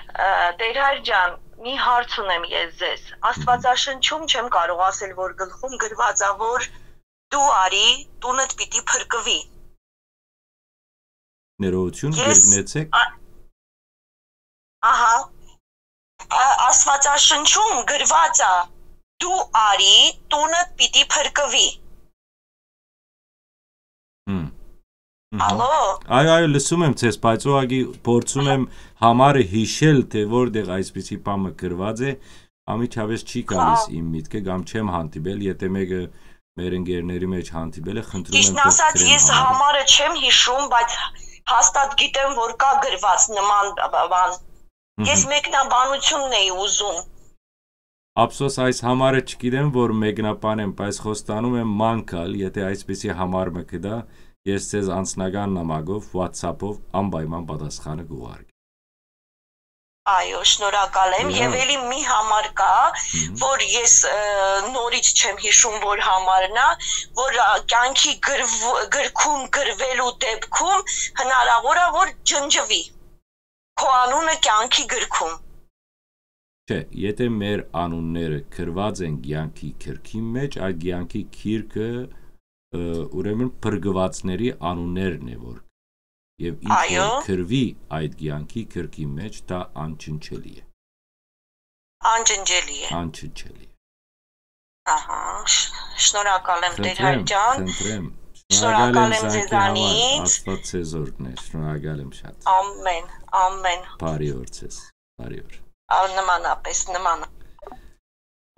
Ը, Տեր հայր ջան, մի հարց ունեմ ես ձեզ։ Աստվածաշնչում չեմ կարող ասել, որ գլխում գրված է, որ դու արի, տունդ պիտի փրկվի։ Ներողություն, Ես գրգնեցեք։ ա-, ահա, ա-, Աստվածաշնչում գրված է, դու արի, տունդ պիտի փրկվի։ Հմ։ Մհմ։ Ալո։ Այո, այո, լսում եմ ձեզ, բայց ուղղակի փորձում եմ համարը հիշել, թե որտեղ այսպիսի բան մը գրված է, անմիջապես չի գալիս Հա։ իմ միտքը, կամ չեմ հանդիպել, եթե մեկը մեր ընկերների մէջ հանդիպել է, խնդրում եմ, Ճիշդն ասած, կրեմ ես համարը։ Համարը չեմ յիշում, բայց հաստատ գիտեմ, որ կա գրված նման բ-, բ-, բան։ Ես Մհմ։ Մեկնաբանությունն էի ուզում։ Ափսոս, այս համարը չգիտեմ, որ մեկնաբանեմ, բայց խոստանում եմ ման գալ, եթե այսպիսի համար մը կդա, ես ձեզ անձնական նամակով, WhatsApp-ով անպայման պատասխանը կուղարկեմ։ Այո, շնորհակալ եմ։ Եվ Լավ։ Էլի մի համար կա, Մհմ։ որ ես, ը, նորից չեմ յիշում, որ համարն է, որ, ա, կյանքի գրվ-, գրքում գրվելու դեպքում հնարավոր է, որ ջնջվի քո անունը կյանքի գրքում։ Չէ, եթե մեր անունները գրված են կյանքի գրքի մեջ, այդ կյանքի գիրքը, ը, ուրեմն փրկվածների անուններն է, որ, եւ ինչ որ Այո։ գրվի այդ կյանքի գրքի մեջ, դա անջնջելի է։ Անջնջելի է։ Անջնջելի է։ Ահա, շ-, շնորհակալ եմ, Տեր Խնդրեմ, Հայր ջան։ խնդրեմ։ Շնորհակալ Շնորհակալ եմ եմ զանգի համար, ձեզանից։ Աստված ձեզ օրհնե, շնորհակալ եմ շատ։ Ամեն, ամեն։ Բարի օր ձեզ, բարի օր։ Ա, նմանապես, նման։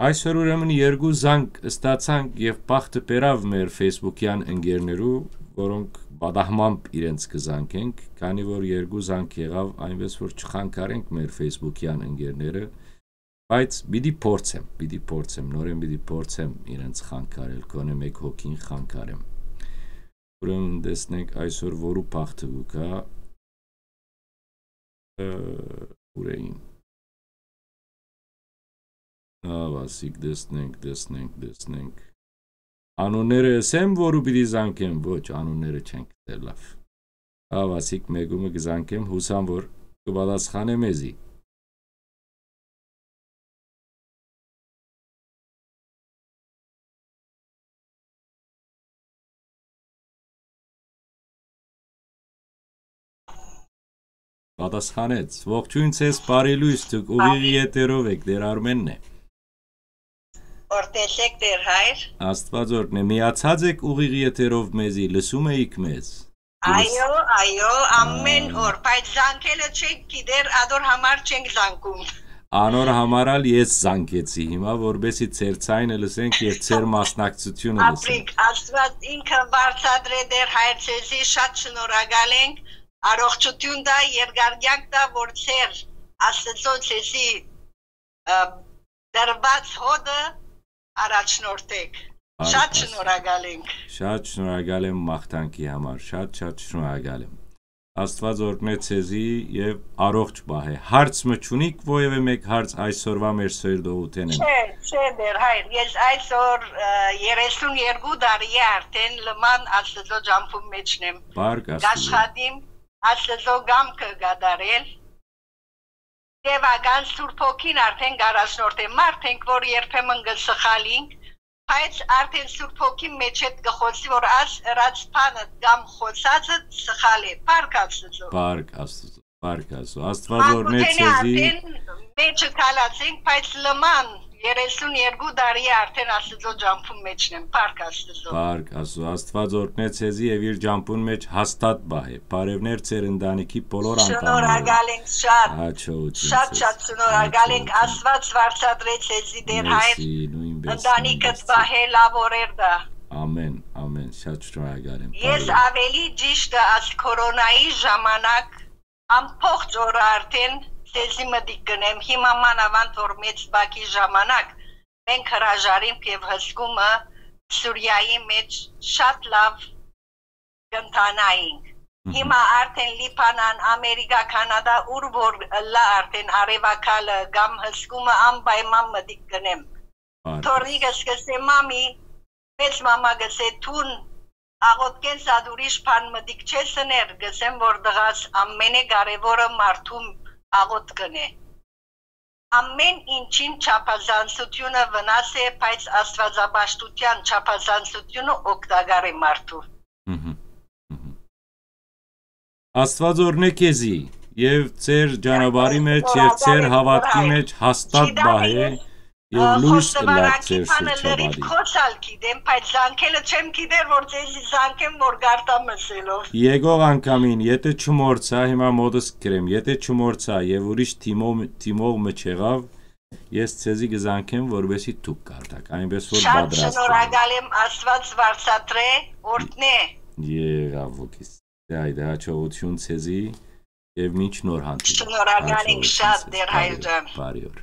Այսօր ուրեմն երկու զանգ ստացանք եւ բախտը բերաւ մեր Facebook-յան ընկերներու, որոնք պատահմամբ իրենց կզանգենք, քանի որ երկու զանգ եղաւ, այնպես որ չխանգարենք մեր Facebook-յան ընկերները, բայց պիտի փորձեմ, պիտի փորձեմ, նորեն պիտի փորձեմ իրենց խանգարել, գոնե մեկ հոգին խանգարեմ։ Ուրեմն տեսնենք այսօր որու բախտը կու գայ, ը, ուրեին։ Ահա, ասիկ, տեսնենք, տեսնենք, տեսնենք։ Անունները ըսեմ, որու պիտի զանգեմ, ոչ, անունները չենք ըսել, լավ։ Ահա, ասիկ, մեկումը կզանգեմ, յուսամ, որ կպատասխանէ մեզի։ Պատասխանեց. «Ողջույն ձեզ, բարի լույս, դուք ուղիղի եթերով եք, Տեր Արմենն է»։ Օրհնեցեք, Տեր Հայր։ Աստված օրհնե, միացած եք ուղիղի եթերով մեզի, լսում էիք մեզ։ Լս- Այո, այո, ամեն Ա։ օր, բայց զանգելը չենք գիտեր, ադոր համար չենք զանգում։ Անոր համար ալ ես զանգեցի հիմա, որպեսի ձեր ձայնը լսենք եւ ձեր մասնակցությունը լսենք։ Ապրիկ, Աստված ինքը բարձատրե, Տեր Հայր, ձեզի շատ շնորհակալ ենք, առողջություն տայ, երկար կյանք տայ, որ ձեր Աստծո ձեզի, ը, տրված հոտը առաջնորդեք։ Շատ Բարձր։ շնորհակալ ենք։ Շատ շնորհակալ եմ մաղթանքի համար, շատ, շատ շնորհակալ եմ։ Աստված օրհնե ձեզի եւ առողջ պահէ։ Հարց մը չունիք, որեւէ մէկ հարց այսօրվա մեր սերտողութենէն։ Չէ, չէ, Տեր Հայր, ես այսօր, ը, երեսուն երկու տարի է արդեն լման Աստծո ջամփուն մեջն եմ։ Բարք Աստուծո։ Կաշխատիմ Աստծո կամքը կատարել։ Տեւական Սուրբ Հոգին արդեն կառաջնորդէ։ Մարդ ենք, որ երբեմն կը սխալինք, բայց արդեն Սուրբ Հոգին մեջ հետ կը խօսի, որ աս ըրած բանը կամ խօսածը սխալ է։ Փառք Աստծո։ Փառք Աստծո, փառք Աստծո։ Աստված օրհնե Մանկութենէ ձեզի։ արդեն մեջը քալած ենք, բայց լման երեսուն երկու տարի է արդեն Աստծո ջամփուն մեջն եմ։ Փառք Աստծո։ Փառք Աստծո, Աստված օրհնե ձեզի եւ իր ջամփուն մեջ հաստատ պահէ։ Բարեւներ ձեր ընտանիքի բոլոր անդամներին։ Շնորհակալ ենք շատ։ Հաջողություն Շատ, ձեզ։ շատ շնորհակալ ենք։ Հաջողություն։ Աստված վարձատրե ձեզի, Տեր Հայր։ Մերսի, նույնպես, Ընտանիքդ նույնպես։ պահէ, լաւորեր դա։ Ամեն, ամեն, շատ շնորհակալ եմ։ Ես Բարի օր։ ավելի ճիշտը աս քորոնայի ժամանակ ամբողջ օրը արդեն ձեզի մտիկ կնեմ։ Հիմա մանավանդ որ մեծ բակի ժամանակ մենք հրաժարինք եւ հսկումը Սուրիայի մեջ շատ լավ կընթանայինք։ Մհմ։ Հիմա արդեն Լիբանան, Ամերիկա, Քանադա, ուր որ ըլլայ արդեն արեւակալը կամ հսկումը անպայման մտիկ կնեմ։ Բարի։ Թորնիկս կսե, «Մամի», մեծ մամա կսե, «Դուն աղօթքէն զատ ուրիշ բան մտիկ չես ըներ»։ Կսեմ որ, «Տղաս, ամենէ կարեւորը մարդուն աղօթքն է»։ Ամեն ինչին չափազանցությունը վնաս է, բայց աստվածապաշտության չափազանցությունը օգտակար է մարդու։ Մհմ, մհմ։ Աստված օրհնե քեզի եւ ձեր ճանապարհի մեջ եւ ձեր Շնորհակալ եմ, հավատքի Տեր Հայր։ Մեջ հաստատ Չիտանի պահէ ես, եւ ը, լույս ըլլաք խոստովանանքի ձեր բանը լրիվ շրջապատի։ Խոսալ գիտեմ, բայց զանգելը չեմ գիտեր, որ ձեզի զանգեմ, որ գարտամ ըսելով։ Եկող անգամին, եթե չմոռցայ, հիմա մոտս կրեմ, եթե չմոռցայ եւ ուրիշ թիմով, թիմով մը չեղավ, Ես ձեզի կը զանգեմ, որպեսզի դուք կարդաք, այնպես որ Շատ պատրաստ եղեք։ Շնորհակալ եմ, Աստված բարձատրե, օրհնե։ Եղաւ ոգիս։ Դե, այդա, հաջողություն ձեզի եւ մինչ նոր հանդիպում։ Շնորհակալ ենք Հաջողություն շատ, ձեզ։ Տեր Հայր Բարի օր, ջան։ Բարի օր։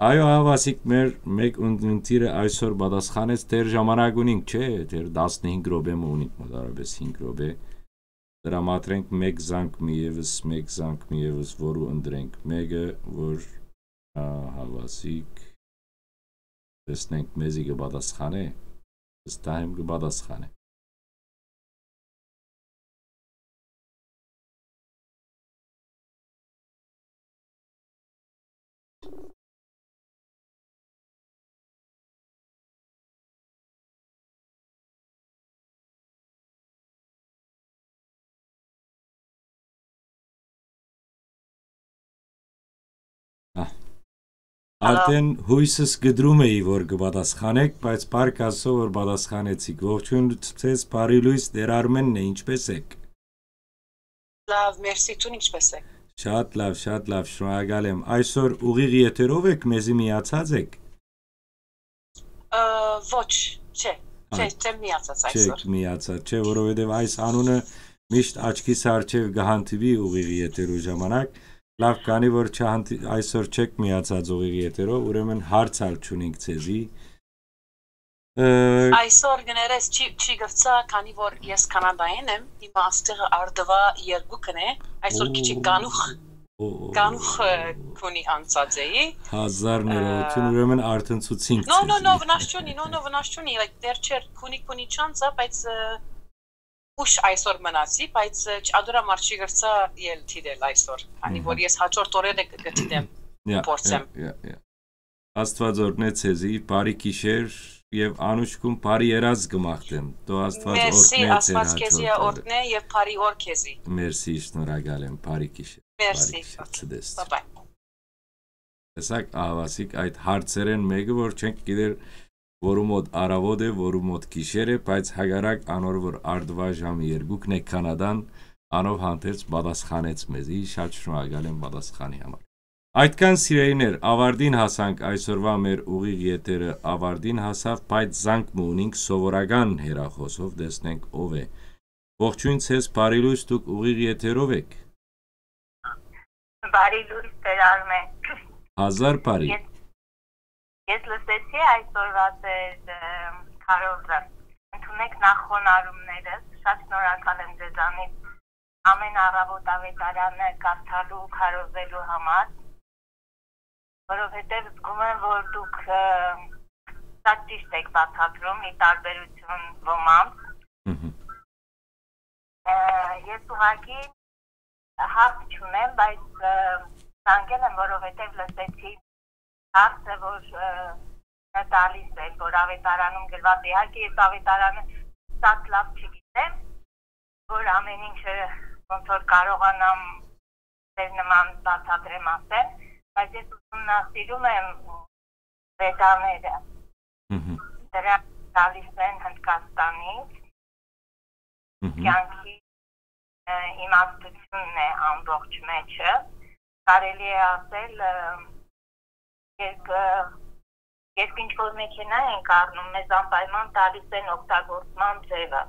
Այո, Ահավասիկ, մեր մէկ ունգընտիրը այսօր պատասխանեց, դեռ ժամանակ ունինք, չէ՞, դեռ տասնհինգ րոպե մը ունինք, մոտարապես հինգ րոպե։ Տրամադրենք մէկ զանգ մի ևս, մէկ զանգ մի ևս, որու ընտրենք մէկը, որ, ա, Ահավասիկ, տեսնենք մեզի կը պատասխանէ, վստահ եմ կը պատասխանէ։ Ահ։ Հալո։ Արդեն յոյսս կդրում էի, որ կը պատասխանեք, բայց փառք Աստուծոյ, որ պատասխանեցիք։ Ողջույն ձեզ, բարի լոյս, Տեր Արմենն է, ինչպե՞ս եք։ Լաւ, մերսի, դուն ինչպե՞ս ես։ Շատ լաւ, շատ լաւ, շնորհակալ եմ։ Այսօր ուղիղ եթերով եք, մեզի միացած եք։ Ը, ոչ, չէ, Ա, չէ, չեմ միացած այսօր։ Չեք միացած, չէ, որովհետև այս անունը միշտ աչքիս առջև կհանդիպի ուղիղ եթերու ժամանակ։ Լաւ, քանի որ չհանդի-, այսօր չեք միացած ուղիղ եթերով, ուրեմն հարց ալ չունենք ձեզի։ Ը, Այսօր կներես չի, չի գվցա, քանի որ ես Կանադայեն եմ, հիմա աստեղը արդվա երկուքն է, այսօր քիչ Օ, կանուխ, օ, օ, կանուխ, ը, քունի անցած էի։ Հազար ներողություն, Ը, ուրեմն արդեն ցուցինք No, no, no, ձեզի։ վնաս չունի, no, no, վնաս չունի, like, դեռ չէր քունի, քունի չանցա, բայց, ը, ուշ այսօր մնացի, բայց, ը, չ-, ադուրա մարդ չի գրցա ել դիտել այսօր, քանի Մհմ։ որ ես հաջորդ օրերը կը, կը դիտեմ, Յա, փորձեմ։ յա, յա, յա։ Աստված օրհնե ձեզի, բարի գիշեր եւ անուշկուն բարի երազ կը մաղթեմ։ Դու Աստված Մերսի, օրհնե ձեր Աստված քեզի հաջորդ օրը։ օրհնե եւ բարի օր քեզի։ Մերսի, շնորհակալ եմ, բարի գիշեր, բարի Մերսի, գիշեր, okay, ցտեստ։ Bye-bye։ Տեսակ, Ահավասիկ, այդ հարցերեն մէկը, որ չենք գիտեր, որու մոտ առավոտ է, որու մոտ գիշեր է, բայց հակառակ անոր, որ արդուայ ժամը երկուքն է Կանադան, անով հանդերձ պատասխանեց մեզի, շատ շնորհակալ եմ պատասխանի համար։ Այդքան, սիրելիներ, ավարտին հասանք այսօրվա մեր ուղիղ եթերը, ավարտին հասաւ, բայց զանգ մը ունինք սովորական հեռախոսով, տեսնենք ով է։ Ողջույն ձեզ, բարի լույս, դուք ուղիղ եթերով եք։ Բարի լույս, Տեր Արմեն։ Հազար բարի։ Ես, ես լսեցի այսօրվա ձեր, ը, քարոզը։ Ընդունեք նախ խոնարհումներս, շատ շնորհակալ եմ ձեզանից ամեն առավոտ ավետարանը կարդալու, քարոզելու համար, որովհետև զգում եմ, որ դուք, ը, շատ ճիշտ եք բացատրում, ի տարբերություն ոմանց։ Մհմ։ Ը, ես ուղղակի հարց չունեմ, բայց, ը, զանգել եմ, որովհետև լսեցի հարցը, որ, ը, տալիս էր, որ ավետարանում գրված է։ Իհարկե, ես ավետարանը շատ լավ չգիտեմ, որ ամեն ինչը ոնց որ կարողանամ ձեր նման բացատրեմ, ասեմ, բայց ես ուսումնասիրում եմ վեդաները։ Մհմ։ Դրանք տալիս են Հնդկաստանից, Մհմ։ կյանքի, ը, իմաստությունն է ամբողջ մեջը։ Կարելի է ասել, ը, երբ, ը, երբ ինչ որ մեքենա ենք առնում, մեզ անպայման տալիս են օգտագործման ձևը։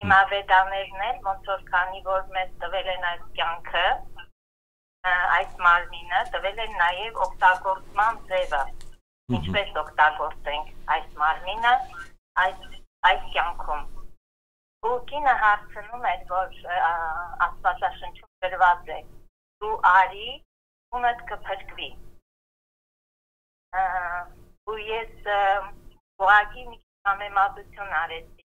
Հիմա վեդաներն են, ոնց որ քանի որ մեզ տվել են այս կյանքը, ը, այս մարմինը, տվել են նաև օգտագործման ձևը, Մհմ։ ինչպես օգտագործենք այս մարմինը այս, այս կյանքում։ Ու կինը հարցնում էր, որ, ը, Աստվածաշնչում գրված է. «Դու արի, քունդ կը փրկուի»։ Ը, ու ես, ը, ուղղակի մի քիչ համեմատություն արեցի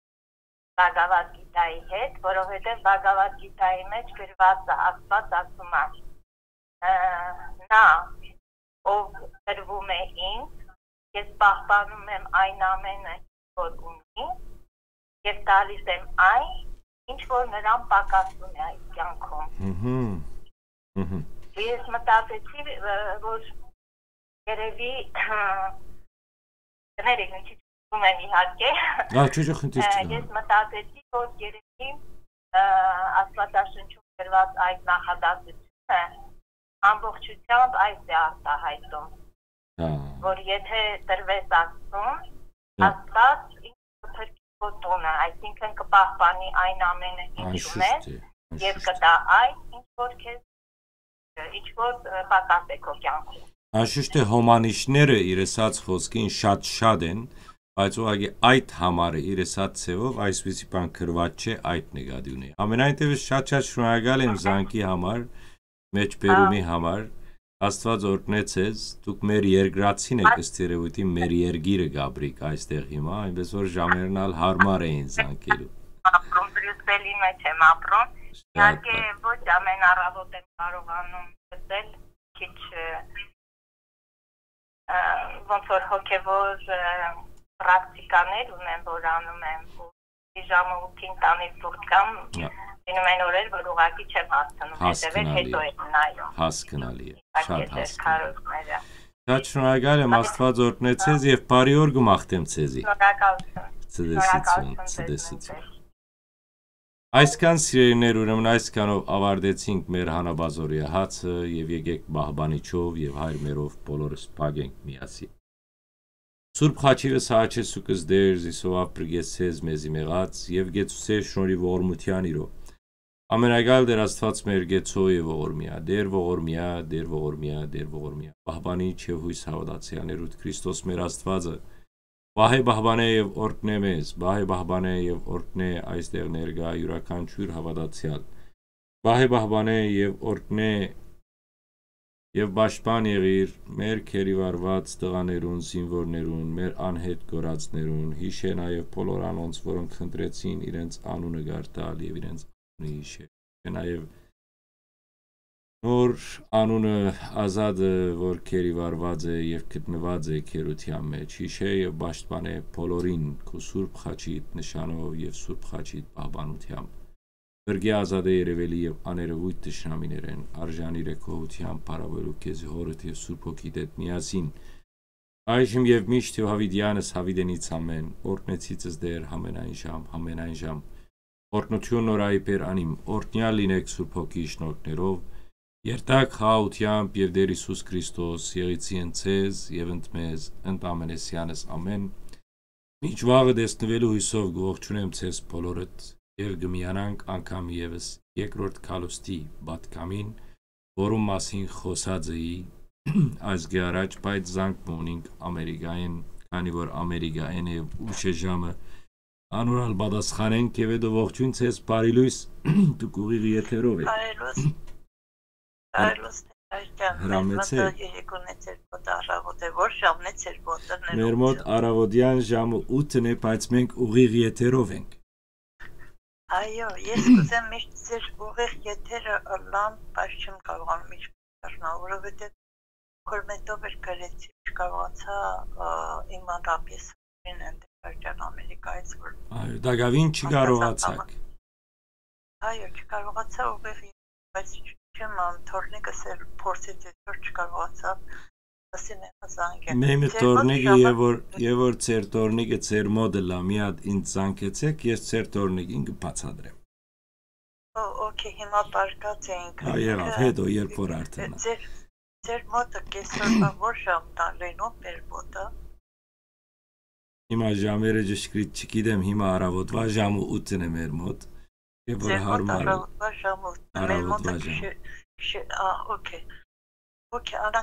Բագավատ Գիտայի հետ, որովհետև Բագավատ Գիտայի մեջ գրված է, Աստված ասում է, ը, նա, ով տրվում է ինձ, ես պահպանում եմ այն ամենը, որ ունի, և տալիս եմ այն, ինչ որ նրան պակասում է այս կյանքում։ Մհմ, մհմ։ Ես մտածեցի, ը, որ երևի, կներեք, մի քիչ ուզում եմ իհարկե։ Ա, չէ, չէ, խնդիր Ը, չկա։ ես մտածեցի, որ երևի, ը, Աստվածաշնչում գրված այդ նախադասությունը ամբողջությամբ այս է արտահայտում, հա, որ եթե տրվես Աստծուն, հա, Աստված ինքը փրկի քո տունը, այսինքն կը պահպանի այն ամենը, ինչու անշուշտ մէջ է, եւ անշուշտ կտա այն, ինչ որ քեզ, ինչ որ, ը, պակաս է քո կյանքում։ Անշուշտ է, հոմանիշները իր ասած խօսքին շատ շատ են, բայց ուղղակի այդ համարը իր ասած ձևով այսպիսի բան գրված չէ, այդ նկատի ունի։ Ամենայն դեպս շատ շատ շնորհակալ եմ զանգի համար, մեջբերումի համար։ Աստված օրհնե ձեզ, դուք մեր երկրացին եք, ըստ երևույթին մեր երկիրը գաբրիկ այստեղ հիմա, այնպես որ ժամերն ալ հարմար էին զանգելու։ Ապրում, Բրիուսելի մեջ եմ ապրում։ Շատ Իհարկե լավ։ Ոչ ամեն առավոտ եմ կարողանում լսել, քիչ, ը, ը, ոնց որ հոգեվոր, ը, պրակտիկաներ ունեմ, որ անում եմ, ու ժամը ութին տանից դուրս կամ Հա։ Լինում են օրեր, որ ուղղակի չեմ հասցնում հետևել, Հասկնալի է։ Հետո եմ նայում։ Հասկնալի է, շատ Պակետ էր հասկնալի։ Քարոզները։ Շատ շնորհակալ եմ, Աստված օրհնե ձեզ եւ բարի օր կմաղթեմ ձեզի։ Շնորհակալություն։ Ցտեսություն, Շնորհակալություն ձեզ ցտեսություն։ Նույնպես։ Այսքան, սիրելիներ, ուրեմն այսքանով ավարտեցինք մեր հանապազօրեայ հացը, եւ եկեք պահպանիչով եւ հայրմերով բոլորս փակենք միասին։ Սուրբ խաչիվս հաչես ու կս Տեր, զիսովաւ պրկեցես մեզի մեղած, եւ գեցուցե շնորհի ողորմութեան իրով։ Ամենակալ Տեր Աստված մեր գեցող եւ ողորմիա, Տեր ողորմիա, Տեր ողորմիա, Տեր ողորմիա, պահպանիչ եւ յոյս հաւատացեալներուդ Քրիստոս մեր Աստվածը, պահէ պահպանէ եւ օրհնէ մեզ, պահէ պահպանէ եւ օրհնէ այստեղ ներկայ իւրաքանչիւր հաւատացեալ, պահէ պահպանէ եւ օրհնէ եւ պաշտպան եղիր մեր գերիվարուած տղաներուն, զինուորներուն, մեր անհետ կորածներուն, յիշէ նաեւ բոլոր անոնց, որոնք խնդրեցին իրենց անունը գարտալ եւ իրենց անունը յիշէ, յիշէ նաեւ նոր անունը Ազատը, որ գերիվարուած է եւ գտնուած է գերութեան մեջ, յիշէ եւ պաշտպանէ բոլորին քու սուրբ խաչիդ նշանով եւ սուրբ խաչիդ պահպանութեամբ։ Փրկի ազատէ երեւելի եւ աներեւոյթ թշնամիներէն, արժանի է գոհութեան փառաւորելու քեզի Հօրդ եւ Սուրբ Հոգիդ հետ միասին, այժմ եւ միշտ եւ յաւիտեանս յաւիտենից ամէն, օրհնեցիցս Տեր, համենայն ժամ, համենայն ժամ։ Օրհնութիւն նորայի Տեր անիմ, օրհնեալ լինէք Սուրբ Հոգի շնորհքներով, երթաք խաղաղութեամբ եւ Տեր Յիսուս Քրիստոս եղիցի ընդ ձեզ եւ ընդ մեզ, ընդ ամենեսեանս ամէն։ Մինչ վաղը տեսնուելու յուսով կ'ողջունեմ ձեզ բոլորդ եւ կը միանանք անգամ եւս երկրորդ քալուստի պատգամին, որուն մասին խօսած էի այսգէ առաջ, բայց զանգ մը ունինք Ամերիկայէն, քանի որ Ամերիկայէն է եւ ուշ է ժամը, անոր ալ պատասխանենք եւ հետո ողջույն ձեզ, բարի լոյս, դուք ուղիղ եթերով եք։ Բարի լոյս։ Հր- Բարի լոյս, Տեր Հայրիկյան, մեր հրամեցեք։ Մոտ երեկոն է, ձեր մոտ առավոտ է, որ ժամն է ձեր մոտը, Մեր մոտ ներողություն։ Առավոտեան ժամը ութն է, բայց մենք ուղիղ եթերով ենք։ Այո, ես կուզեմ միշտ ձեր ուղիղ եթերը ըլլամ, բայց չեմ կարողանում ինչ դառնալ, որովհետեւ քորմետով էր գրեցի, չկարողացա, ը, իմանալ, ես ուրին եմ Դեբարջան Ամերիկայից, որ Այո, դակավին չկարողացաք։ Այո, չկարողացա ուղիղ, բայց չեմ ան, թորնիկս էր փորձեց, որ չկարողացա, ասին եմ զանգել։ Մեմի Ձեր մոտ թորնիկը, ժամը եւ որ, եւ որ ձեր թորնիկը ձեր մոտ ըլլայ, մի հատ ինձ զանգեցեք, ես ձեր թորնիկին կբացատրեմ։ Ո, օքեյ, հիմա պարկած էինք։ Հա, եղավ, Ինքը, հետո, երբ որ արդեն։ Ձեր, ձեր մոտը կեսօրվա որ ժամն ա լինում, մեր մոտը։ Հիմա ժամերը ճշգրիտ չգիտեմ, հիմա առավոտվա ժամը ութն է մեր մոտ, երբ որ Ձեր մոտ հարմար է։ Առավոտվա ժամը ութն է, մեր մոտը Առավոտվա ժամ։ գիշեր-, գիշեր-, ա, օքեյ։ Օքեյ, անա